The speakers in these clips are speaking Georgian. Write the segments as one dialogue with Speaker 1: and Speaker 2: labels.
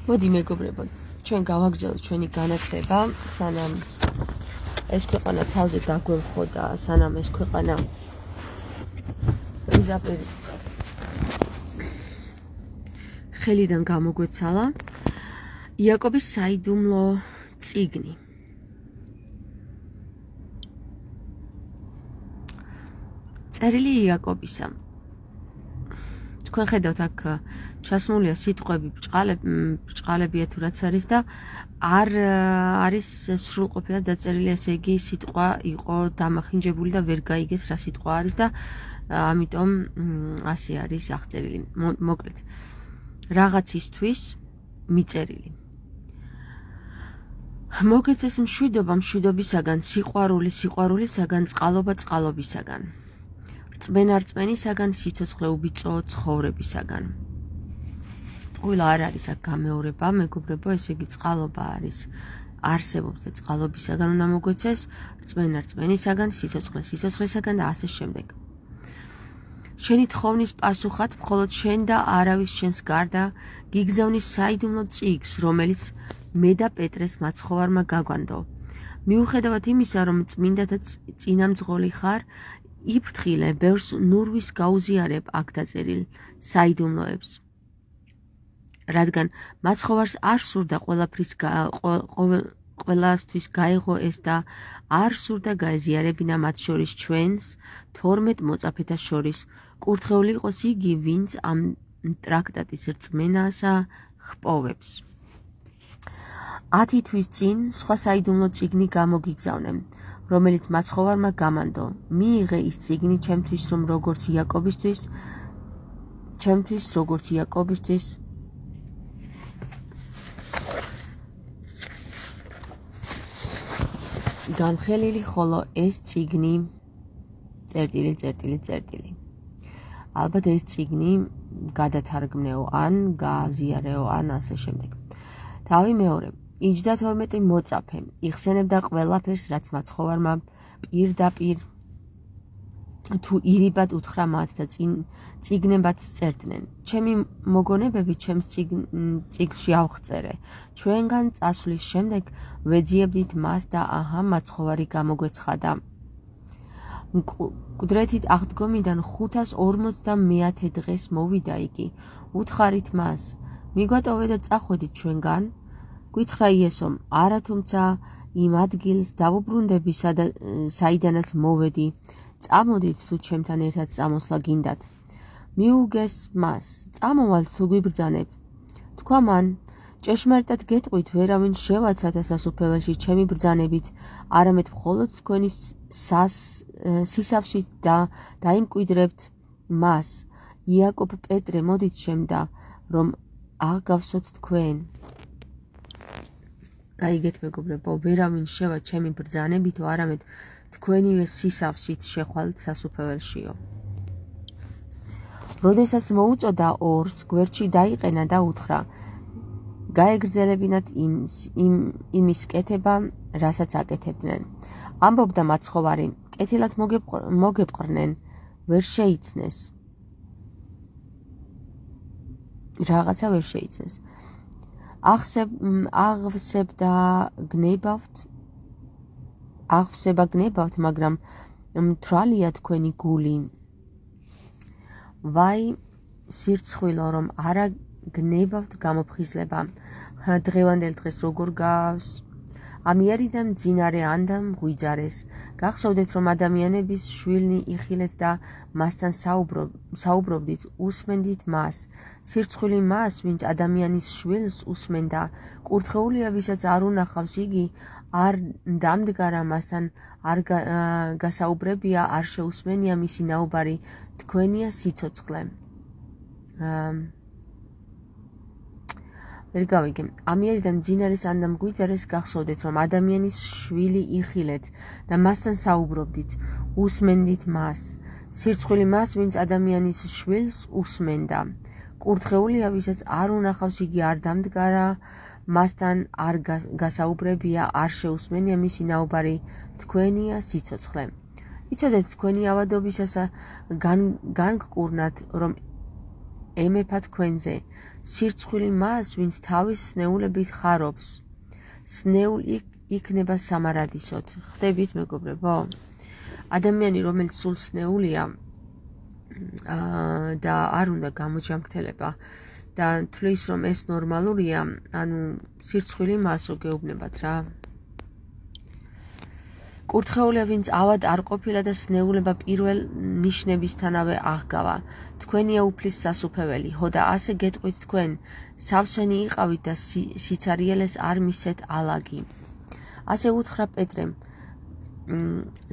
Speaker 1: მოდი მეგობრებო, ჩვენ გავაგრძელოთ ჩვენი განათლება, სანამ ეს ქვეყანა თავზე დაგვემხო და სანამ ეს ქვეყანა პირდაპირ ხელიდან გამოგვეცალა. იაკობის საიდუმლო წიგნი. წერილი იაკობისა. თქვენ ხედავთ აქ ჩასმულია სიტყვები ბრჭყალებია თუ რაც არის და არ არის სრულყოფილად დაწერილი, ესე იგი სიტყვა იყო დამახინჯებული და ვერ გაიგეს რა სიტყვა არის და ამიტომ ასე არის აღწერილი. მოკლედ რაღაცისთვის მიწერილი. მოგეცეს მშვიდობა მშვიდობისაგან, სიყვარული სიყვარულისაგან, წყალობა წყალობისაგან. რწმენა რწმენისაგან, სიცოცხლე უბიწო ცხოვრებისაგან. ყველა არ არის აქ გამეორება, მეგობრებო, ესე იგი წყალობა არის არსებობს და წყალობისაგან უნდა მოგვეცეს, რწმენა რწმენისაგან, სიცოცხლე სიცოცხლისაგან და ასე შემდეგ. შენი თხოვნის პასუხად მხოლოდ შენ და არავის შენს გარდა გიგზავნის საიდუმლო წიგს, რომელიც მე და პეტრეს მაცხოვარმა გაგვანდო. მიუხედავად იმისა, რომ წმინდათა წინამძღოლი ხარ, იფრთხილე ბევრს ნურვის გაუზიარებ აქ დაწერილ საიდუმლოებს. რადგან მაცხოვარს არ სურდა ყველასთვის გაეღო ეს და არ სურდა გაეზიარებინა მათ შორის ჩვენს 12 მოწაფეთა შორის. კურთხეული იყოს იგი, ვინც ამ ტრაქტატის რწმენასა ხპოვებს. 10 თვის წინ სხვა საიდუმლო წიგნი გამოგიგზავნემ, რომელიც მაცხოვარმა გამანდო. მიიღე ის წიგნი ჩემთვის, რომ როგორც იაკობისთვის განხელილი, ხოლო ეს წიგნი წერტილი. ალბათ ეს წიგნი გადათარგმნეო ან გააზიარეო ან ასე შემდეგ. თავი მეორე. იჯდა 12 მოწაფე, იხსენებდა ყველაფერს, რაც მაცხოვარმა პირდაპირ თუ ირიბად უთხრა მათ და წიგნებად წერდნენ. ჩემი მოგონებები ჩემს წიგნში ავხწერე. ჩვენგან წასვლის შემდეგ ვეძიებდით მას და აჰა, მაცხოვარი გამოგვეცხადა. მკვდრეთით აღდგომიდან 550 დღეს მოვიდა იგი. უთხარით მას, მიგვატოვე და წახვედით ჩვენგან. გითხრა იესომ, არა, თუმცა იმ ადგილს დავუბრუნდები, საიდანაც მოვედი. წამოდით თუ ჩემთან ერთად წამოსვლა გინდათ. მიუგეს მას, წამოვალ თუ გვიბრძანებ. თქვა მან, ჭეშმარიტად გეტყვით, ვერავინ შევაცათა სასუფეველში ჩემი ბრძანებით, არამედ მხოლოდ თქვენი სისავსით და დაიმკვიდრებთ მას. იაკობ, პეტრე, მოდით შემდა, რომ აღგავსოთ თქვენ. გაიგეთ მეგობრებო, ვერავინ შევა ჩემი ბრძანებით, არამედ თქვენივე სისავსით შეხვალთ სასუფეველშიო. როდესაც მოუწოდა ორს, გვერდში დაიყენა და უთხრა, გაეგრძელებინათ იმის კეთება, რასაც აკეთებდნენ. ამბობდა მაცხოვარი, კეთილად მოგეპყრნენ, ვერ შეიცნეს. რაღაცა ვერ შეიცნეს. აღვსება გნებავთ, მაგრამ მთვრალია თქვენი გული. ვაი, სირცხვილო, რომ არა გნებავთ გამოფხიზლება. დღევანდელ დღეს როგორ გავს? ამიერიდან მძინარე ანდა მღვიძარეს. გახსოვდეთ, რომ ადამიანების შვილნი იხილეთ და მასთან საუბრობდით, უსმენდით მას. სირცხვილი მას, ვინც ადამიანის შვილს უსმენდა. კურთხეულია, ვისაც არ უნახავს იგი, არ დამდგარა, მასთან არ გასაუბრებია, არ შეусმენია მისი ნაუბარი, თქვენია სიცოცხლე. ვერ გავიგე. ამიერიდან მძინარის ანდა მღვიძარეს, გახსოვდეთ, რომ ადამიანის შვილი იხილეთ და მასთან საუბრობდით, უსმენდით მას. სირცხვილი მას, ვინც ადამიანის შვილს უსმენდა. კურთხეულია, ვისაც არ უნახავს იგი, არ დამდგარა, მასთან არ გასაუბრებია, არ შეусმენია მისი ნაუბარი, თქვენია სიცოცხლე. იცოდეთ, თქვენი ავადობისას განგკურნათ, რომ ემეფა თქვენზე, სირცხვილი მას, ვინც თავის სნეულებით ხარობს. სნეული იქნება სამარადისოდ. ხდებით, მეგობრებო? ადამიანი, რომელიც სულ სნეულია და არ უნდა გამოჯანმრთელება და თვლის, რომ ეს ნორმალურია, ანუ სირცხვილი მასო გეუბნებათ რა. კურთხეულია, ვინც ავად არ ყოფილა და სნეულება პირველ ნიშნებისთანავე აღგავა. თქვენია უფლის სასუფეველი, ხო და ასე გეტყვით თქვენ, სავსენი იყავით და სიცარიელეს არ მისცეთ ალაგი. ასე უთხრა პეტრემ,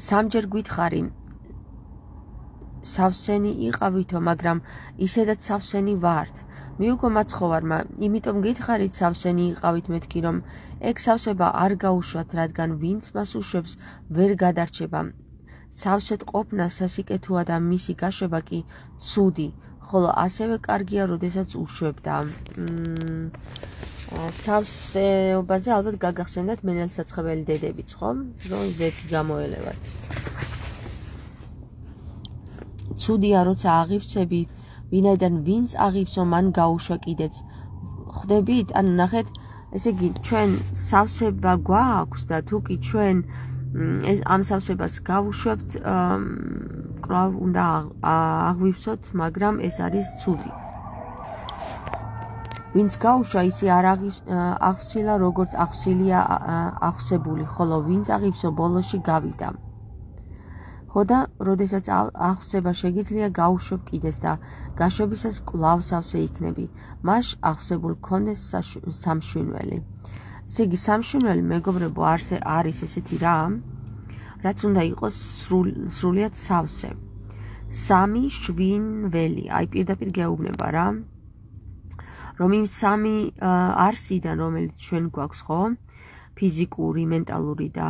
Speaker 1: სამჯერ გითხარი, სავსენი იყავითო, მაგრამ ისედაც სავსენი ვართ. მიუგო მაცხოვარმა, იმიტომ გითხარით სავსენი იყავით მეთქი, რომ ეგ სავსება არ გაუშვათ, რადგან ვინც მას უშვებს, ვერ გადარჩება. სავსეთ ყოფნა სასიკეთოა და მისი გაშვება კი ცუდი, ხოლო ასევე კარგია, როდესაც უშვებდა. სავსეობაზე ალბათ გაგახსენდათ მენელსაცხებელი დედებიც, ხო? რომ ზეთი გამოელევათ. ცუდია, როცა აღივსები, ვინაიდან ვინც აღივსო, მან გაუშვა კიდეც. ხვდებით? ანუ ნახეთ, ესე იგი, ჩვენ სავსება გვაქვს და თუ კი ჩვენ ამ სავსებას გავუშვებთ, კვლავ უნდა აღვივსოთ, მაგრამ ეს არის ცუდი. ვინც გაუშვა, ისი არ აღსილა, როგორც აღსილია აღსებული, ხოლო ვინც აღივსო, ბოლოში გავიდა. ხო და, როდესაც აღსება შეგიძლია, გაუშვებ კიდეს და გაშვებისას კვლავ სავსე იქნები. მას აღსებულ გქონდეს სამშვინველი. ესე იგი, სამშვინველი, მეგობრებო, არის ესეთი რა, რაც უნდა იყოს სრულიად სავსე. სამი შვინველი, აი პირდაპირ გეუბნება რა, რომ იმ სამი არსიდან, რომელიც ჩვენ გვაქვს, ხო? ფიზიკური, მენტალური და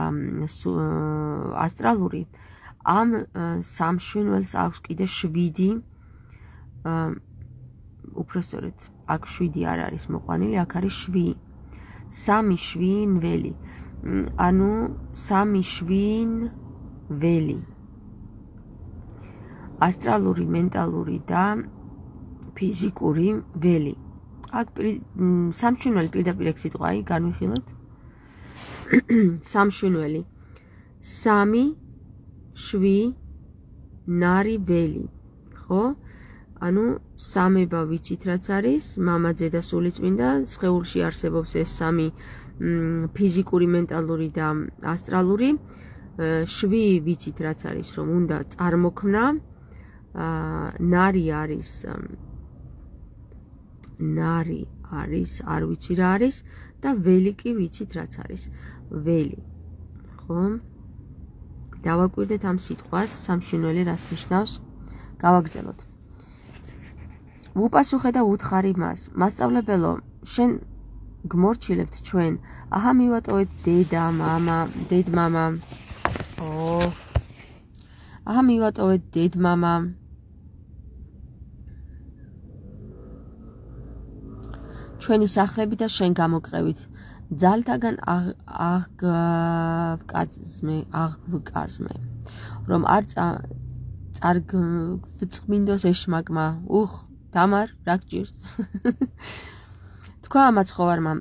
Speaker 1: ასტრალური, ამ სამშვინველს აქვს კიდე 7, უпростորეთ, აქ 7 არ არის მოყვანილი, აქ არის 7. სამი შვინველი. ანუ სამი შვინველი. ასტრალური, მენტალური და ფიზიკური ველი. აქ სამშვინველი პირდაპირ ეგ სიტყვა, აი განვიხილოთ. სამშვინველი. სამი შვინარი ველი. ხო? ანუ სამება ვიცით რაც არის, მამაძე და სულიწმინდა, სხეულში არსებობს ეს სამი ფიზიკური, მენტალური და ასტრალური. 7 ვიცით რაც არის, რომ უნდა წარმოქმნა. ნარი არის, არ ვიცი რა არის და ველი კი ვიცით რაც არის. ველი. ხო? დავაკვირდეთ ამ სიტყვას, სამშვინველი რას ნიშნავს? გავაგრძელოთ. უპასუხე და უთხარი მას, მასწავლებელო, შენ გმორჩილებთ ჩვენ, აჰა მივატოვეთ დედმამა. აჰა მივატოვეთ დედმამა. ჩვენი სახლები და შენ გამოგყევით. ძალთაგან აღგვკაზმე, რომ არ წარგვწმინდოს ეშმაკმა. თამარ, რა გჭირს? თქვა მაცხოვარმა,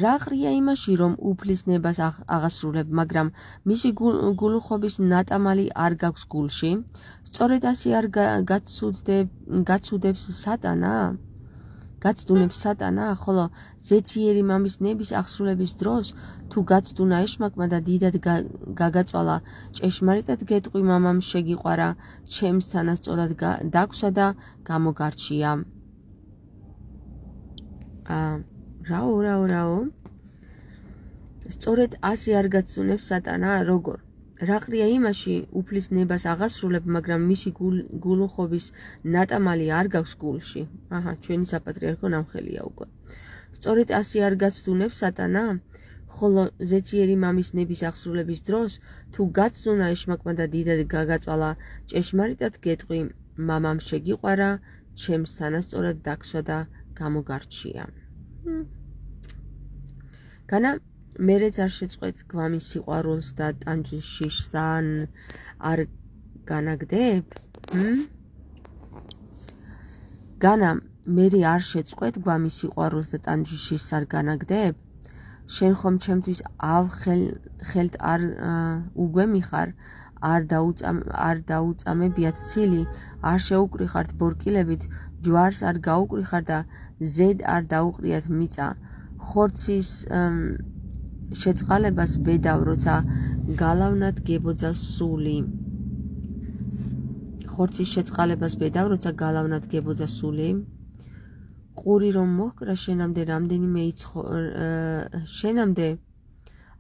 Speaker 1: რა ყრია იმაში, რომ უფლის ნებას აღასრულებ, მაგრამ მისი გულუხობის ნატამალი არ გაქვს გულში? სწორედ ასე არ გაცუდებს სატანა? გაცდუნებს სატანა, ხოლო ზეციერი მამის ნების აღსრულების დროს, თუ გაცდუნა ეშმაკმა და დიდად გაგაწვალა, ჭეშმარიტად გეტყვი მამამ შეგიყვარა, ჩემს თანასწორად დაგვსვა და გამოგარჩია. რაო. სწორედ ასე არ გაცდუნებს სატანა, როგორ? რა ყრია იმაში, უფლის ნებას აღასრულებ, მაგრამ მისი გულუხობის ნატამალი არ გაქვს გულში. აჰა, ჩვენი საპატრიარქო ნამხელია უკვე. სწორედ ასე არ გაცდუნებს სატანა, ხოლო ზეციერი მამის ნების აღსრულების დროს, თუ გაცდუნა ეშმაკმა და დიდად გაგაწვალა, ჭეშმარიტად გეტყვი, მამამ შეგიყვარა, ჩემს თანასწორად დაგვსვა და გამოგარჩია. განა მერეც არ შეწყვეთ გვამის სიყვარულს და ტანჯიშს არ განაგდებ? განა მერი არ შეწყვეტ გვამის სიყვარულს და ტანჯიშის არ განაგდებ? შენ ხომ ჩემთვის ხელთ არ უგვემიხარ, არ დაუწამებიათ ცილი, არ შეუკრიხართ ბორკილებით, ჯვარს არ გაუკრიხარ და ზედ არ დაუყრიათ მიწა. ხორცის შეწყალებას ბედავ, როცა გალავნად გებოძა სული. ხორცის შეწყალებას ბედავ, როცა გალავნად გებოძა სული. ყური რომ მოჰკრა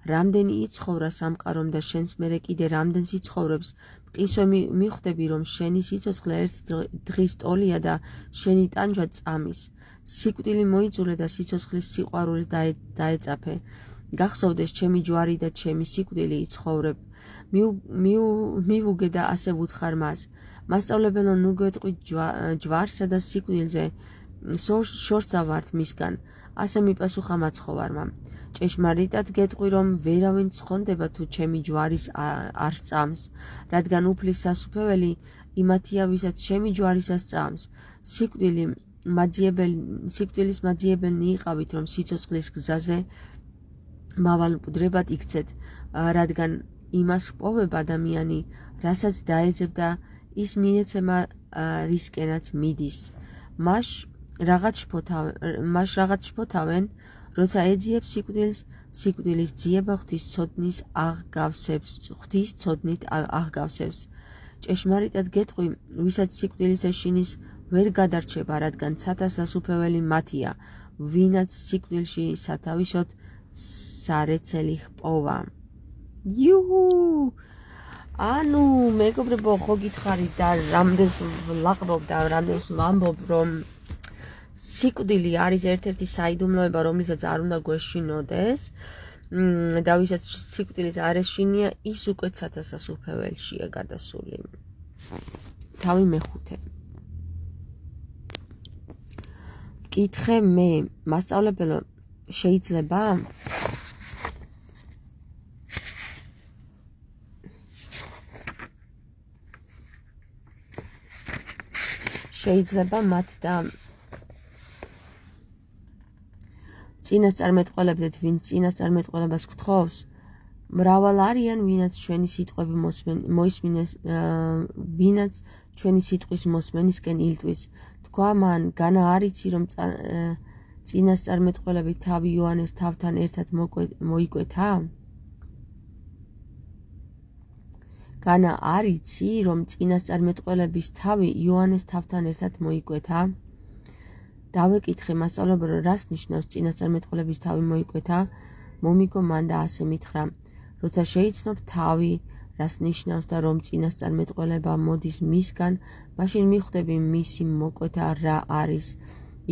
Speaker 1: რამდენი იცხოვრა სამყარომ და შენს მერე კიდე რამდენს იცხოვრებს. მყისვე მიხვდები რომ შენი სიცოცხლე ერთი დღის ტოლია და შენი ტანჯვა წამის. სიკვდილი მოიწურე და სიცოცხლის სიყვარულს დაეწაფე. გახსოვდეს ჩემი ჯვარი და ჩემი სიკვდილი იცხოვრებ. მივუგე და ასე ვუთხარ მას. მასწავლებელო, ნუ გვეტყვით ჯვარსა და სიკვდილზე, შორსა ვართ მისგან. ასე მიპასუხა მაცხოვარმა. ჭეშმარიტად გეტყვი, რომ ვერავინ ცხონდება თუ ჩემი ჯვარის არ სწამს, რადგან უფლის სასუფეველი იმათია, ვისაც ჩემი ჯვარისას სწამს. სიკვდილის მაძიებელნი იყავით, რომ სიცოცხლის გზაზე მავალ მკვდრებად იქცეთ, რადგან იმას პოვებ ადამიანი, რასაც დაეძებ და ის მიეცემა რისკენაც მიდის. მას რაღაც შფოთავენ, როცა ეძიებს სიკვდილის ძიება ღვთის ცოდნით აღგავსებს. ჭეშმარიტად გეტყვი, ვისაც სიკვდილის ეშინის ვერ გადარჩება, რადგან ცათა სასუფეველი მათია, ვინაც სიკვდილში სათავისოდ სარეცელი ჰპოვა. ანუ მეგობრებო, ხო გითხარით და რამდენს ვლაყბობ და რამდენს ვამბობ, რომ სიკვდილი არის ერთ-ერთი საიდუმლოება, რომლითაც არ უნდა გვეშინოდეს და ვისაც სიკვდილის არ ეშინია, ის უკვე ცათა სასუფეველშია გადასული. თავი მეხუთე. ვკითხე მე, მასწავლებელო, შეიძლება? შეიძლება მათ და წინასწარმეტყველებდეთ, ვინც წინასწარმეტყველებას გთხოვს, მრავალ არიან, ვინაც ჩვენი სიტყვები მოისმინეს, ვინაც ჩვენი სიტყვის მოსმენისკენ ილტვის. თქვა მან, განა არ იცი, რომ წინასწარმეტყველები თავი იოანეს თავთან ერთად მოიკვეთა? განა არ იცი, რომ წინასწარმეტყველების თავი იოანეს თავთან ერთად მოიკვეთა? დავეკითხე მასწავლებელო, რას ნიშნავს წინასწარმეტყველების თავი მოიკვეთა? მომიგო მან და ასე მითხრა, როცა შეიცნობ თავი, რას ნიშნავს და რომ წინასწარმეტყველება მოდის მისგან, მაშინ მიხვდები მისი მოკვეთა რა არის.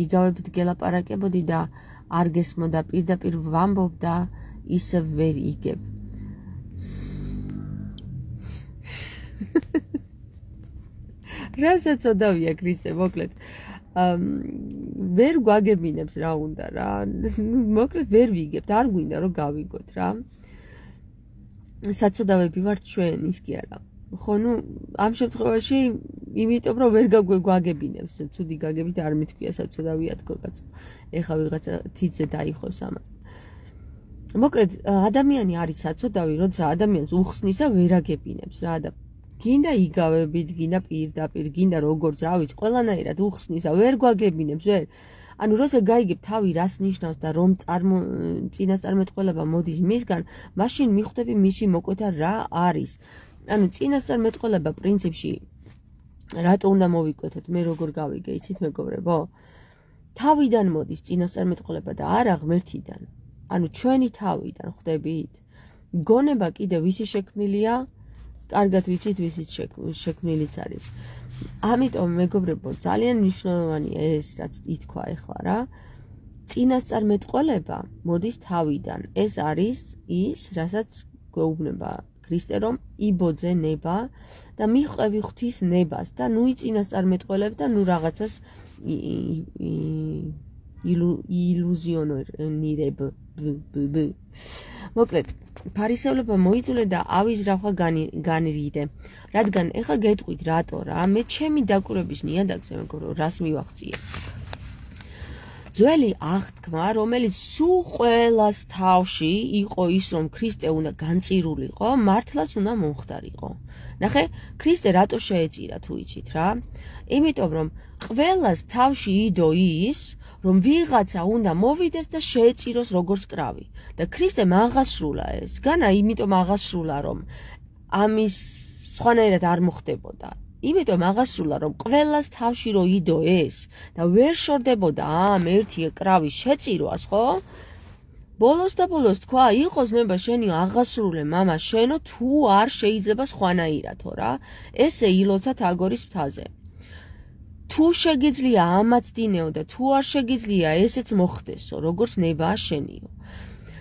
Speaker 1: იგავებით გელაპარაკებოდი და არ გესმოდა, პირდაპირ ვამბობ და ისე ვერ იგებ. რა საწოდავია ქრისტე, მოკლედ. ვერ გვაგებინებს რა უნდა რა. მოკლედ ვერ ვიგებთ, არ გვინდა რომ გავიგოთ რა. საწოდავები ვართ ჩვენ, ის კი არა. ხო, ნუ ამ შემთხვევაში იმიტომ რომ ვერ გვაგებინებს, ცუდი გაგებით არ მithქვია საწოდავია თქო კაცო. ეხა ვიღაცა თითზე დაიხოს ამას. მოკლედ ადამიანი არის საწოდავი, როცა ადამიანს უხსნისა ვერ აგებინებს რა და გინდა იგავებით, გინდა პირდაპირ, გინდა როგორც რა ვიცი, ყველანაირად უხსნისა ვერ გვაგებინებს, ვერ. ანუ როცა გაიგებ თავი რას ნიშნავს და რომ წინასწარმეტყველება მოდის მისგან, მაშინ მიხვდები მისი მოკვეთა რა არის. ანუ წინასწარმეტყველება პრინციპში რატო უნდა მოვიკვეთოთ, მე როგორ გავიგე, იცით მეგობრებო? თავიდან მოდის წინასწარმეტყველება და არა ღმერთიდან. ანუ ჩვენი თავიდან, ხვდებით? გონება კიდე ვისი შექმნილია? კარგად ვიცით, ვისიც შექმნილიც არის. ამიტომ მეგობრებო, ძალიან მნიშვნელოვანია ეს, რაც ითქვა ახლა რა. წინასწარმეტყველება მოდის თავიდან. ეს არის ის, რასაც გვეუბნება ქრისტე, რომ იბოძე ნება და მიყვევი ღვთის ნებას და ნუ იწინასწარმეტყველებ და ნუ რაღაცას ილუზიონირებ. მოკლედ, ფარისევლობა მოიწულე და ავიზრახვა განრიდე. რადგან ეხა გეტყვით რატო რა, მე ჩემი დაკვირვების ნიადაგზე მეგობრო, რას მივახციე. ძველი აღთქმა, რომელიც სულ ყველას თავში იყო ის, რომ ქრისტე უნდა განწირულიყო, მართლაც უნდა მომხდარიყო. ნახე, ქრისტე რატო შეეწირა თუ იცით რა? იმიტომ რომ ყველას თავში იდო ის, რომ ვიღაცა უნდა მოვიდეს და შეეწიროს როგორც კრავი. და ქრისტემ აღასრულა ეს. განა იმიტომ აღასრულა, რომ ამის სხვანაირად არ მოხდებოდა. იმიტომ აღასრულა, რომ ყველას თავში რო იდო ეს და ვერ შორდებოდა ამ ერთი კრავის შეწირვას, ხო? ბოლოს და ბოლოს თქვა, იყოს ნება შენი აღასრულე მამა შენო, თუ არ შეიძლება სხვანაირათო რა. ესე ილოცა თაგორის მთაზე. თუ შეგიძლია ამაც დინეო და თუ არ შეგიძლია ესეც მოხდესო, როგორც ნება შენიო.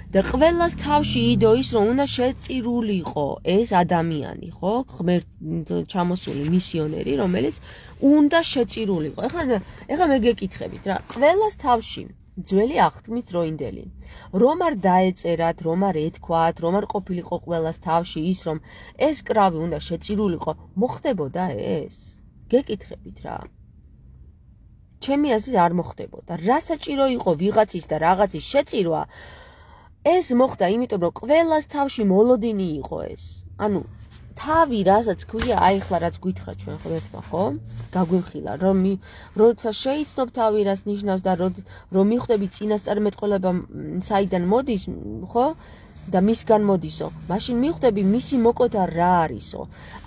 Speaker 1: და ყველას თავში იდო ის, რომ უნდა შეწირულიყო ეს ადამიანი, ხო? ღმერთ ჩამოსული მისიონერი, რომელიც უნდა შეწირულიყო. ეხლა მე გეკითხებით რა, ყველას თავში ძველი აღთქმის დროინდელი. რომ არ დაეწერათ, რომ არ ეთქვათ, რომ არ ყოფილიყო ყველას თავში ის, რომ ეს კრავი უნდა შეწირულიყო, მოხდებოდა ეს? გეკითხებით რა. ჩემი აზრით არ მოხდებოდა. რა საჭირო იყო ვიღაცის და რაღაცის შეწირვა? ეს მოხდა იმიტომ, რომ ყველას თავში მოლოდინი იყო ეს. ანუ თავი, რასაც ქვია, აი ახლა რაც გითხრა ჩვენ ღმერთმა, ხო? გაგვიმხილა, რომ როცა შეიცნობ თავი, რას ნიშნავს და რომ მიხვდები წინასწარმეტყველება საიდან მოდის, ხო? და მისგან მოდისო, მაშინ მიხვდები მისი მოკვეთა რა არისო.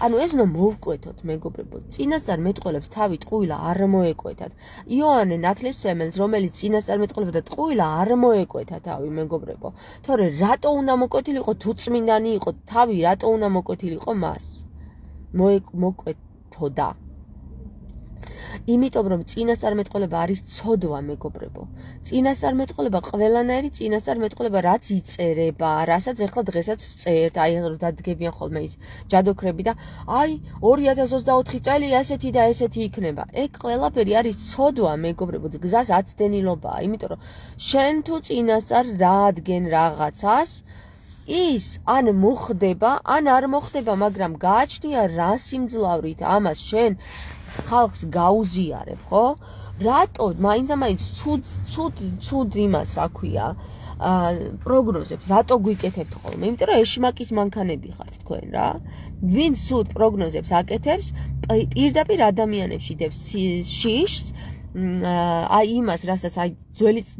Speaker 1: ანუ ეს უნდა მოვკვეთოთ, მეგობრებო. წინასწარმეტყველებს თავი ტყუილა არ მოეკვეთათ. იოანე ნათლისმცემელს, რომელიც წინასწარმეტყველებდა ტყუილა არ მოეკვეთა თავი, მეგობრებო. თორე რატო უნდა მოკვეთილიყო, თუ წმინდანი იყო, თავი რატო უნდა მოკვეთილიყო მას? მოკვეთოდა. იმიტომ რომ წინასწარმეტყველება არის ცოდვა, მეგობრებო. წინასწარმეტყველება ყველანაირი წინასწარმეტყველება რაც იწერება, რასაც ახლა დღესაც ვწერთ, აი რომ დადგებიან ხოლმე ის ჯადოქრები და აი 2024 წელი ესეთი და ესეთი იქნება. ეგ ყველაფერი არის ცოდვა, მეგობრებო, გზას აცდენილობაა, იმიტომ რომ შენ თუ წინასწარ დაადგენ რაღაცას, ის ან მოხდება, ან არ მოხდება, მაგრამ გააჩნია რა სიმძლავრით ამას შენ ხალხს გაუზიარებ, ხო? რატო მაინც ცუდ იმას რა ქვია, პროგნოზებს რატო გვიკეთებთ ხოლმე? იმიტომ რომ ეშმაკის მანქანები ხართ თქვენ რა. ვინ ცუდ პროგნოზებს აკეთებს, პირდაპირ ადამიანებში დებს შიშს, აი იმას, რასაც აი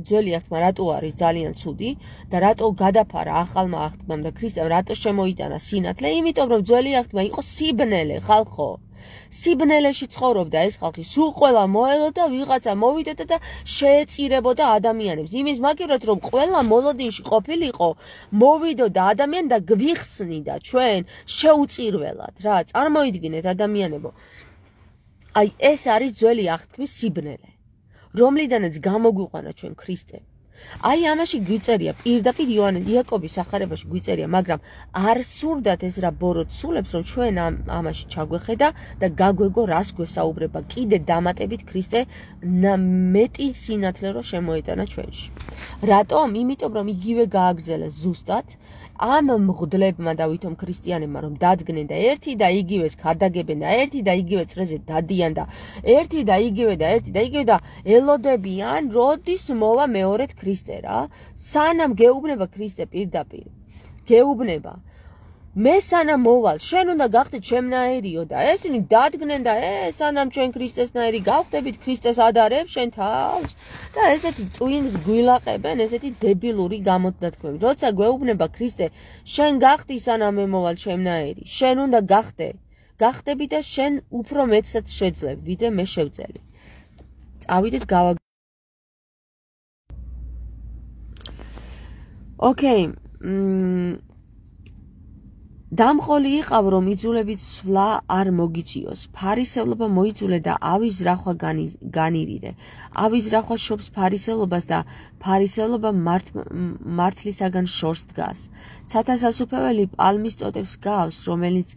Speaker 1: ძველი აღთქმა რატო არის ძალიან ცუდი და რატო გადაფარა ახალმა აღთქმამ და ქრისტემ რატო შემოიტანა სინათლე? იმიტომ რომ ძველი აღთქმა იყო სიბნელე, ხალხო. სიბნელეში ცხოვრობდა ეს ხალხი, სულ ყველა მოელოდა, ვიღაცა მოვიდოდა და შეეწირებოდა ადამიანებს. იმის მაგივრად რომ ყველა მოლოდინში ყოფილიყო, მოვიდოდა ადამიანი და გვიხსნიდა ჩვენ შეუწირველად რა. წარმოიდგინეთ ადამიანებო. აი ეს არის ძველი აღთქმის სიბნელე, რომლიდანაც გამოგვიყვანა ჩვენ ქრისტე. აი ამაში გვიწერია, პირდაპირ იოანე იაკობის სახარებაში გვიწერია, მაგრამ არ სურდათ ეს რა ბოროტ სულებს, რომ ჩვენ ამაში ჩაგვეხედა და გაგვეგო რას გვესაუბრება. კიდე დამატებით ქრისტე მეტი სინათლე რო შემოეტანა ჩვენში. რატომ? იმიტომ რომ იგივე გააგრძელეს ზუსტად ამ მღვდლებმა და ვითომ ქრისტიანებმა, რომ დადგნენ და ერთი და იგივეს ქადაგებენ და ერთი და იგივე წრეზე დადიან და ერთი და იგივე და ელოდებიან, როდის მოვა მეორედ ქრისტე რა. სანამ გეუბნება ქრისტე პირდაპირ, გეუბნება მე სანამ მოვალ, შენ უნდა გახდეთ ჩემნაირიო და ესენი დადგნენ და სანამ ჩვენ ქრისტესნაირი გავხდებით, ქრისტეს ადარებ შენ თავს და ესეთი ტვინს გვილაყებენ, ესეთი დებილური გამოდათქმები. როცა გვეუბნება ქრისტე, შენ გახდი სანამ მე მოვალ ჩემნაირი, შენ უნდა გახდები და შენ უფრო მეტსაც შეძლებ, ვიდრე მე შევძელი. წავიდეთ ოკეი. დამყოლი იყავ, რომ იძულებით სვლა არ მოგიწიოს. ფარისევლობა მოიწულე და ავის ზრახვა განირიდე. ავის ზრახვა შობს ფარისევლობას და ფარისევლობა მართლისაგან შორს დგას. ცათა სასუფეველი პალმის ტოტებს გავს, რომელიც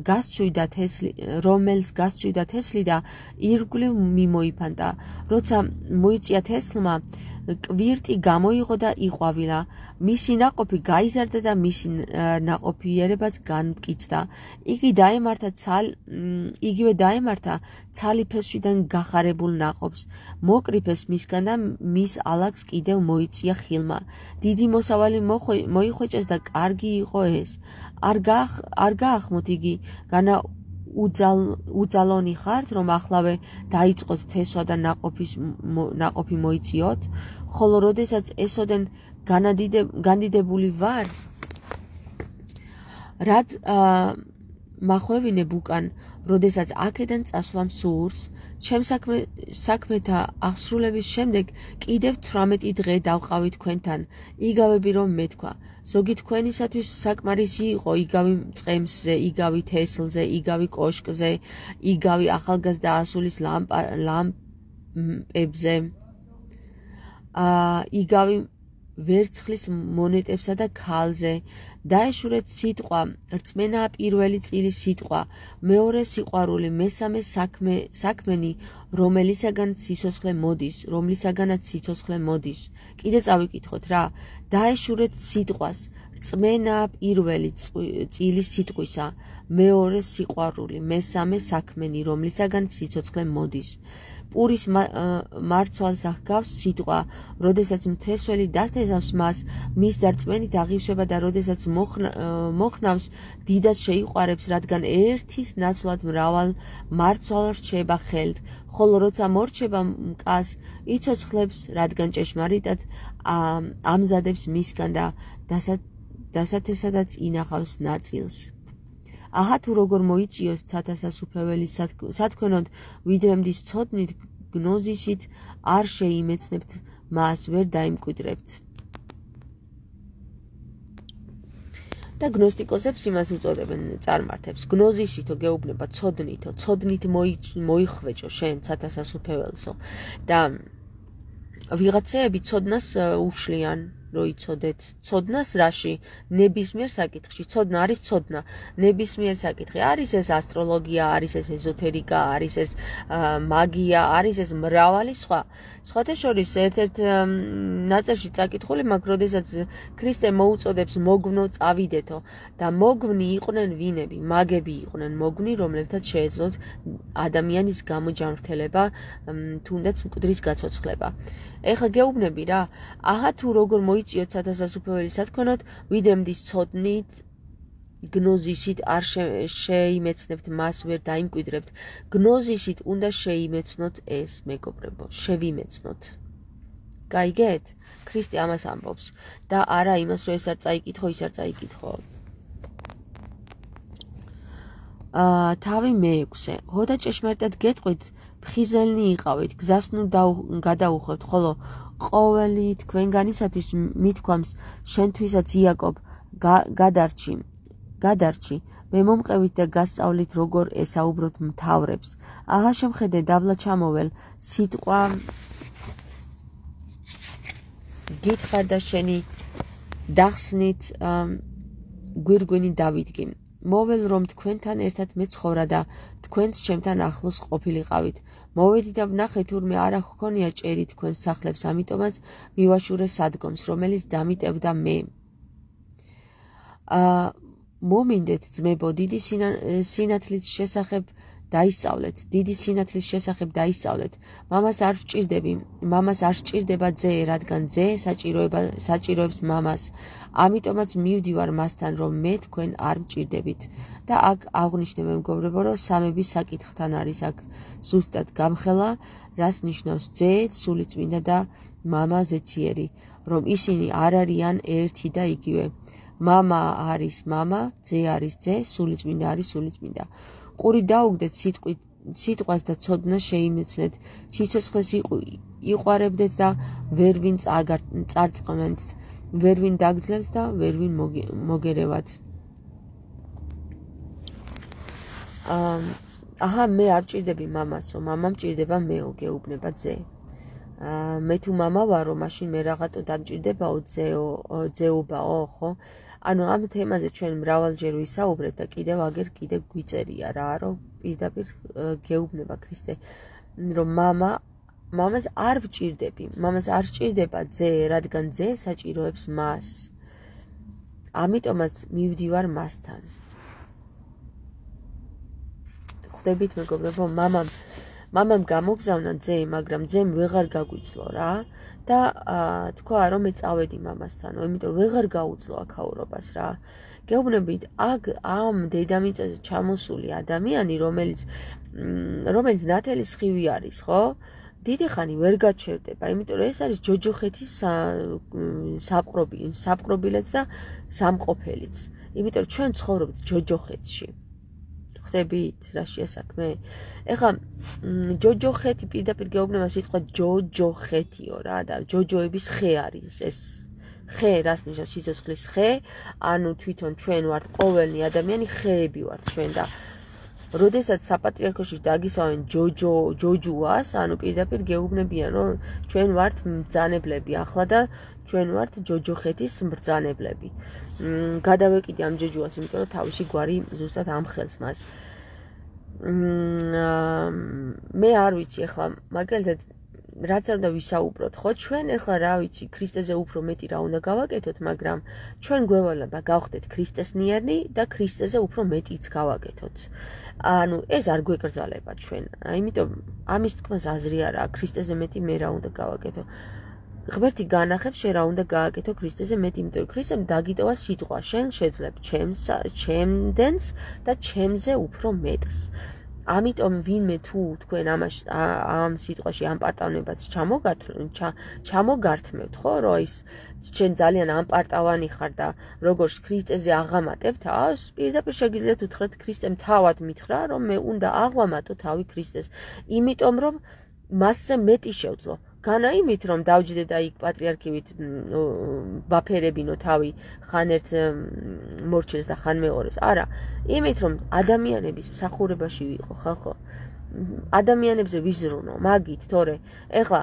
Speaker 1: გასცვიდა თესლი და ირგვლივ მიმოიფანტა. როცა მოიწია თესლმა, კვირტი გამოიღო და იყვავილა. მისი ნაყოფი გაიზარდა და მისი ნაყოფიერებაც განმტკიცდა. იგივე დაემართა ცალი ფესვიდან გახარებულ ნაყოფს. მოკრიფეს მისგან და მის ალაგს კიდევ მოიწია ხილმა. დიდი მოსავალი მოიხვეჭეს და კარგი იყო ეს. არ გაახმოთ იგი განა უძალონი ხართ, რომ ახლავე დაიწყოთ თესვა და ნაყოფი მოიწიოთ, ხოლო როდესაც ესოდენ განდიდებული ვარ, რად მახვევინებ უკან, როდესაც აქედან წასვლამ სურს, ჩემ საქმეთა აღსრულების შემდეგ კიდევ 18 დღე დავყავი თქვენთან, იგავები რომ მეთქვა. ზოგი თქვენისათვის საკმარისი იყო იგავი მწყემსზე, იგავი თესლზე, იგავი კოშკზე, იგავი ახალგაზრდა ასულის ლამპებზე, იგავი ვერცხლის მონეტებსა და ქალზე. დაეშურეთ სიტყვა, რწმენაა პირველი წილის სიტყვა, მეორე სიყვარული, მესამე საქმენი, რომლისაგანაც სიცოცხლე მოდის. კიდე წავიკითხოთ რა. დაეშურეთ სიტყვას, რწმენაა პირველი წილის სიტყვისა, მეორე სიყვარული, მესამე საქმენი, რომლისაგანაც სიცოცხლე მოდის. პურის მარცვალს აღგავს სიტყვა, როდესაც მთესველი დასტესავს მას, მის დარწმენით აღივსება და როდესაც მოხნავს, დიდად შეიყვარებს, რადგან ერთის ნაცვლად მრავალ მარცვალ რჩება ხელთ, ხოლო როცა მორჩება მკას, იცოცხლებს, რადგან ჭეშმარიტად ამზადებს მისგან და დასათესადაც ინახავს ნაწილს. აჰა თუ როგორ მოიწიოს ცათასასუფეველი სათქვენოდ, ვიდრე მდის ცოდნით, გნოზისით არ შეიმეცნებთ, მას ვერ დაიმკვიდრებთ. და გნოსტიკოსებს იმას უწოდებენ წარმართებს. გნოზისითო გეუბნება ცოდნითო, ცოდნით მოიხვეჭო შენ ცათასასუფეველსო და ვიღაცეები ცოდნას უშლიან. რო იცოდეთ ცოდნას რაში? ნებისმიერ საკითხში. ცოდნა არის ცოდნა. ნებისმიერ საკითხი. არის ეს ასტროლოგია, არის ეს ეზოთერიკა, არის ეს მაგია, არის ეს მრავალი სხვა. სხვათა შორის ერთ-ერთ ნაწერში წაკითხული მაქვს, როდესაც ქრისტე მოუწოდებს მოგვნო წავიდეთო და მოგვნი იყვნენ ვინები? მაგები იყვნენ მოგვნი, რომლებთაც შეეძლოთ ადამიანის გამოჯანმრთელება, თუნდაც მკვდრის გაცოცხლება. ეხლა გეუბნები რა, აჰა თუ როგორ მოიწიოთ ცათასასუფეველი სათქვენოდ, ვიდრე მდის ცოდნით, გნოზისით არ შეიმეცნებთ, მას ვერ დაიმკვიდრებთ. გნოზისით უნდა შეიმეცნოთ ეს, მეგობრებო, შევიმეცნოთ. გაიგეთ? ქრისტე ამას ამბობს და არა იმას, რომ ეს არ წაიკითხო, ის არ წაიკითხო. თავი მე-6. ჰოდა ჭეშმარიტად გეტყვით, ფხიზელნი იყავით, გზას ნუ გადაუხვევთ, ხოლო ყოველი თქვენგანისათვის მithქვამს, შენთვისაც იაკობ, გადარჩი, მე მომყევით და გასწავლით, როგორ ესაუბროთ მთავრებს. აჰა შემხედე, დაბლა ჩამოվել, სიტყვა გითხარ და შენი დახსნით გვირგვინი დავიდგი. მოվել რომ თქვენთან ერთად მეცხოვრა და თქვენც ჩემთან ახლოს ყოფილიყავით. მოვედი და ვნახე თურმე არა ჰქონია ჭერი თქვენს სახლებს, ამიტომაც მივაშურე სადგომს, რომელიც დამიტევდა მე. მომინდეთ ძმებო, დიდი სინათლის შესახებ დაისწავლეთ. მამას არ სჭირდება ძე, რადგან ძე საჭიროებს მამას. ამიტომაც მივდივარ მასთან, რომ მე თქვენ არ მჭირდებით. და აქ აღნიშნე მეგობრებო, რომ სამების საკითხთან არის აქ ზუსტად გამხელა, რას ნიშნავს ძე, სულიწმინდა და მამა ზეციერი, რომ ისინი არ არიან ერთი და იგივე. მამა არის მამა, ძე არის ძე, სულიწმინდა არის სულიწმინდა. ყური დაუგდეთ სიტყვას და ცოდნა შეიმეცნეთ, სიცოცხლეს იყვარებდეთ და ვერვინ წარწყმენთ, ვერვინ დაგძლევთ და ვერვინ მოგერევათ. აჰა მე არ ჭირდები მამასო, მამა მჭირდება მეო, გეუბნება ძე. მე თუ მამა ვარო, მაშინ მე რაღაცო დამჭირდებაო ძეობაო, ხო? ანუ ამ თემაზე ჩვენ მრავალჯერ ვისაუბრეთ და კიდევ გვიწერია რა, რომ პირდაპირ გეუბნება ქრისტე, რომ მამას არ ვჭირდები, მამას არ სჭირდება ძე, რადგან ძე საჭიროებს მას. ამიტომაც მივდივარ მასთან. ხვდებით მეგობრებო, მამამ გამოგზავნა ძე, მაგრამ ძემ ვეღარ გაგვიცლო რა და თქვა რომ მე წავედი მამასთანო, იმიტომ რომ ვეღარ გაუძლო აქაურობას რა. გეუბნებით, ამ დედამიწაზე ჩამოსული ადამიანი, რომელიც ნათელი სხივი არის, ხო? დიდი ხანი ვერ გაჩერდება, იმიტომ რომ ეს არის ჯოჯოხეთის საპყრობილეც და სამყოფელიც. იმიტომ რომ ჩვენ ცხოვრობთ ჯოჯოხეთში. ხვდებით, რა შეასაქმე? ეხლა ჯოჯოხეთი პირდაპირ გეუბნება სიტყვა ჯოჯოხეთიო რა და ჯოჯოების ხე არის ეს. ხე რას ნიშნავს? სიცოცხლის ხე, ანუ თვითონ ჩვენ ვართ ყოველნი ადამიანი ხეები ვართ ჩვენ და როდესაც საპატრიარქოში დაგისვამენ ჯოჯუას, ანუ პირდაპირ გეუბნებიან, რომ ჩვენ ვართ მბრძანებლები ახლა და ჩვენ ვართ ჯოჯოხეთის მბრძანებლები. გადავეკიდე ამ ჯოჯუას, იმიტომ რომ თავისი გვარი ზუსტად ამხელს მას. მე არ ვიცი ახლა მაგალითად რაც არ უნდა ვისაუბროთ, ხო, ჩვენ ახლა რა ვიცი, ქრისტეზე უფრო მეტი რა უნდა გავაკეთოთ, მაგრამ ჩვენ გვევალება გავხდეთ ქრისტესნიერნი და ქრისტეზე უფრო მეტიც გავაკეთოთ. ანუ ეს არ გვეკრძალება ჩვენ. იმიტომ ამის თქმას აზრი არაა, ქრისტეზე მეტი მე რა უნდა გავაკეთო. ღმერთი განახებს შენ რა უნდა გააკეთო ქრისტეზე მეტი, იმიტომ რომ ქრისტემ დაგიტოვა სიტყვა, შენ შეძლებ ჩემდენს და ჩემზე უფრო მეტს. ამიტომ ვინმე თუ თქვენ ამ სიტყვაში ამ პარტავნებაც ჩამოგართმევთ, ხო, რომ ის შენ ძალიან ამპარტავანი ხარ და როგორც ქრისტეზე აღამატებ თავს, პირდაპირ შეგიძლიათ უთხრათ ქრისტემ თავად მითხრა, რომ მე უნდა აღვამატო თავი ქრისტეს, იმიტომ რომ მასზე მეტი შევძლო. განა იმით, რომ დავჯდე და იქ პატრიარქივით ვაფერებინო თავი ხან ერთ მორჩილს და ხან მეორეს. არა, იმით, რომ ადამიანების მსახურებაში ვიყო, ხალხო. ადამიანებზე ვიზრუნო, მაგით, თორე ეხლა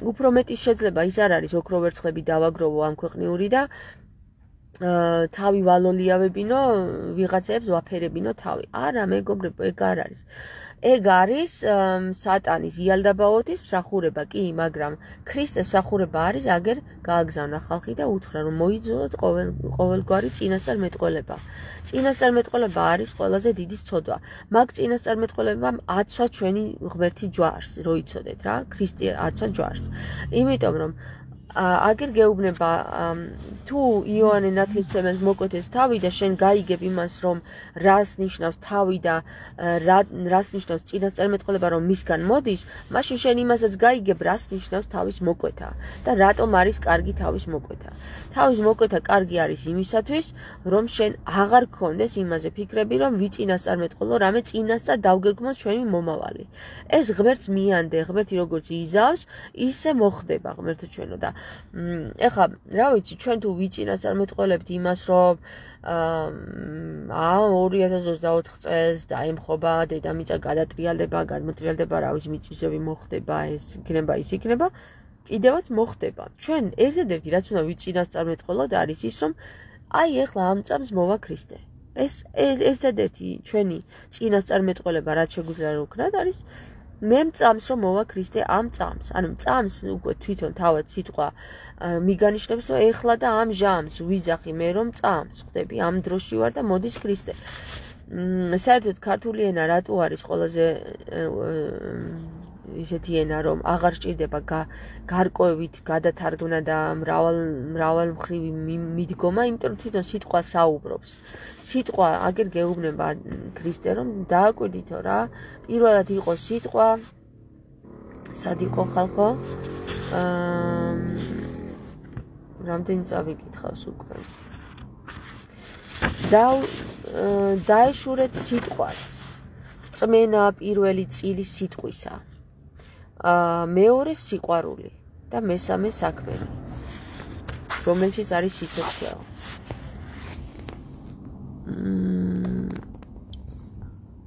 Speaker 1: უფრო მეტი შეძლება ის არ არის ოქრო ვერცხლები დავაგროვო ამ ქვეყნიური და თავი ვალოლიავებინო, ვიღაცებს ვაფერებინო თავი. არა, მეგობრებო, ეგ არ არის. ეგ არის სატანის იალდაბაოთის მსახურება კი, მაგრამ ქრისტეს მსახურება არის აგერ გააგზავნა ხალხი და უთხრა რომ მოიძულოთ ყოველგვარი წინასწარმეტყველება. წინასწარმეტყველება არის ყველაზე დიდი ცოდვა. მაგ წინასწარმეტყველებამ აცვა ჩვენი ღმერთი ჯვარს, რო იცოდეთ რა, ქრისტე აცვა ჯვარს. იმიტომ რომ აგერ გეუბნება თუ იოანე ნათლისმცემელს მოკვეთეს თავი და შენ გაიგებ იმას რომ რას ნიშნავს თავი და რას ნიშნავს წინასწარმეტყველება რომ მისგან მოდის, მაშინ შენ იმასაც გაიგებ რას ნიშნავს თავის მოკვეთა და რატომ არის კარგი თავის მოკვეთა. თავის მოკვეთა კარგი არის იმისათვის, რომ შენ აღარ გქონდეს იმაზე ფიქრები, რომ ვიწინასწარმეტყველო რამე წინასწარ დავგეგმოთ ჩვენი მომავალი. ეს ღმერთს მიანდე, ღმერთი როგორც იზავს, ისე მოხდება ღმერთო ჩვენო და ეხლა რა ვიცი, ჩვენ თუ ვიწინასწარმეტყველებთ იმას, რომ 2024 წელს დაემხობა, დედამიწა გადატრიალდება, გადმოტრიალდება, რა ვიცი, მიწისძვრები მოხდება, ეს იქნება, ის იქნება, კიდევაც მოხდება. ჩვენ ერთადერთი რაც უნდა ვიწინასწარმეტყველოთ არის ის, რომ აი ეხლა ამ წამს მოვა ქრისტე. ეს ერთადერთი ჩვენი წინასწარმეტყველება, რაც შეგვიძლია რომ ვქნათ, არის მე მწამს რომ მოვა ქრისტე ამ წამს. ანუ მწამს უკვე თვითონ თავად სიტყვა მიგანიშნებს, რომ ეხლა და ამ ჟამს ვიძახი მე რომ წამს, ხვდები, ამ დროში ვარ და მოდის ქრისტე. საერთოდ ქართული ენა რატო არის ყველაზე ისეთი ენა, რომ აღარ სჭირდება გარკვევით გადათარგმნა და მრავალმხრივი მიდგომა, იმიტომ რომ თვითონ სიტყვა საუბრობს. სიტყვა აგერ გეუბნება ქრისტე რომ დააკვირდითო რა, პირველად იყო სიტყვა, სად იყო ხალხო? რამდენი წავიკითხავს უკვე. დაეშურეთ სიტყვას, წმენა პირველი წილის სიტყვისა. მეორე სიყვარული და მესამე საქმენი, რომელშიც არის სიცოცხლეო.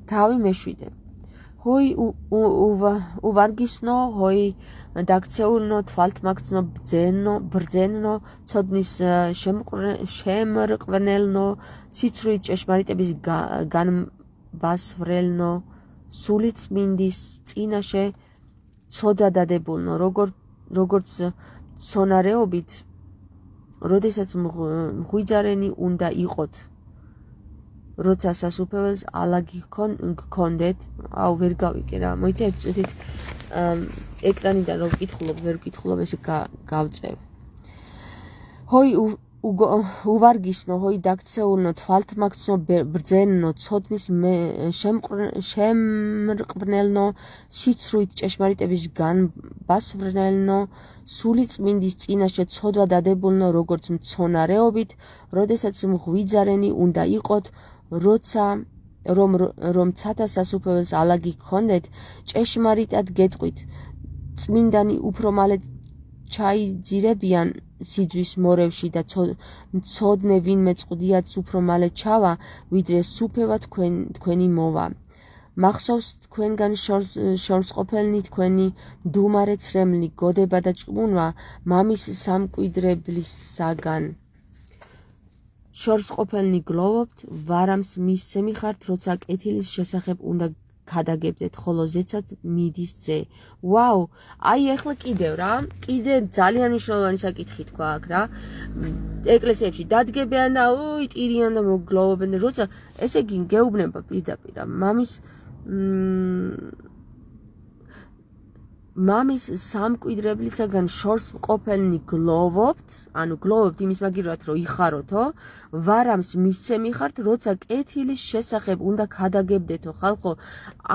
Speaker 1: თავი მეშვიდე. ჰოი უვარგისნო, ჰოი დაქცეულნო, თვალთმაგცნო, ბრძენნო, ცოდნის შემრყვნელნო, სიცრუით ჭეშმარიტების განბასვრელნო, სული წმინდის წინაშე ცოდა დადებულნო, როგორც ცონარეობით, როდესაც მღვიძარენი უნდა იყოთ, როცა სასუფეველს ალაგი გქონდეთ, ვერ გავიკე რა, მოიცა ერთ წუთით ეკრანიდან რომ ვკითხულობ, ვერ ვკითხულობ, ესე გავწევ. ჰოი უვარგისნო, ჰოი დაქცეულნო, თვალთმაქცნო, ბრძენნო, ცოდნის შემრყვნელნო, სიცრუით ჭეშმარიტების განბასვრნელნო, სული წმინდის წინაშე ცოდვა დადებულნო, როგორც მცონარეობით, როდესაც მღვიძარენი უნდა იყოთ, რომ ცათა სასუფეველს ალაგი გქონდეთ, ჭეშმარიტად გეტყვით, წმინდანი უფრო მალე ჩაიძირებიან სიძვის მორევში და მცოდნე ვინმე წყუდიაც უფრო მალე ჩავა, ვიდრე სუფევა თქვენი მოვა. მახსოვს თქვენგან შორსყოფილნი თქვენი დუმარე ცრემლი, გოდება და ჭკუნვა მამის სამკვიდრებლისაგან. შორსყოფილნი გლოვობთ, ვარამს მისცემი ხართ, როცა კეთილის შესახებ უნდა გადაგებდეთ, ხოლო ზეცად მიდის ძე. ვაუ, აი ახლა კიდევ რა, კიდევ ძალიან მნიშვნელოვანი საკითხი თქვა აქ რა. ეკლესიებში დადგებიან და ტირიან და მოგლოვობენ, როცა ესე იგი გეუბნება პირდაპირ მამის სამკვიდრებლისაგან შორს ყოფილნი გლოვობთ, ანუ გლოვობთ იმის მაგივრად რომ იხაროთო, ვარამს მისცემი ხართ, როცა კეთილის შესახებ უნდა გადაგებდეთო, ხალხო,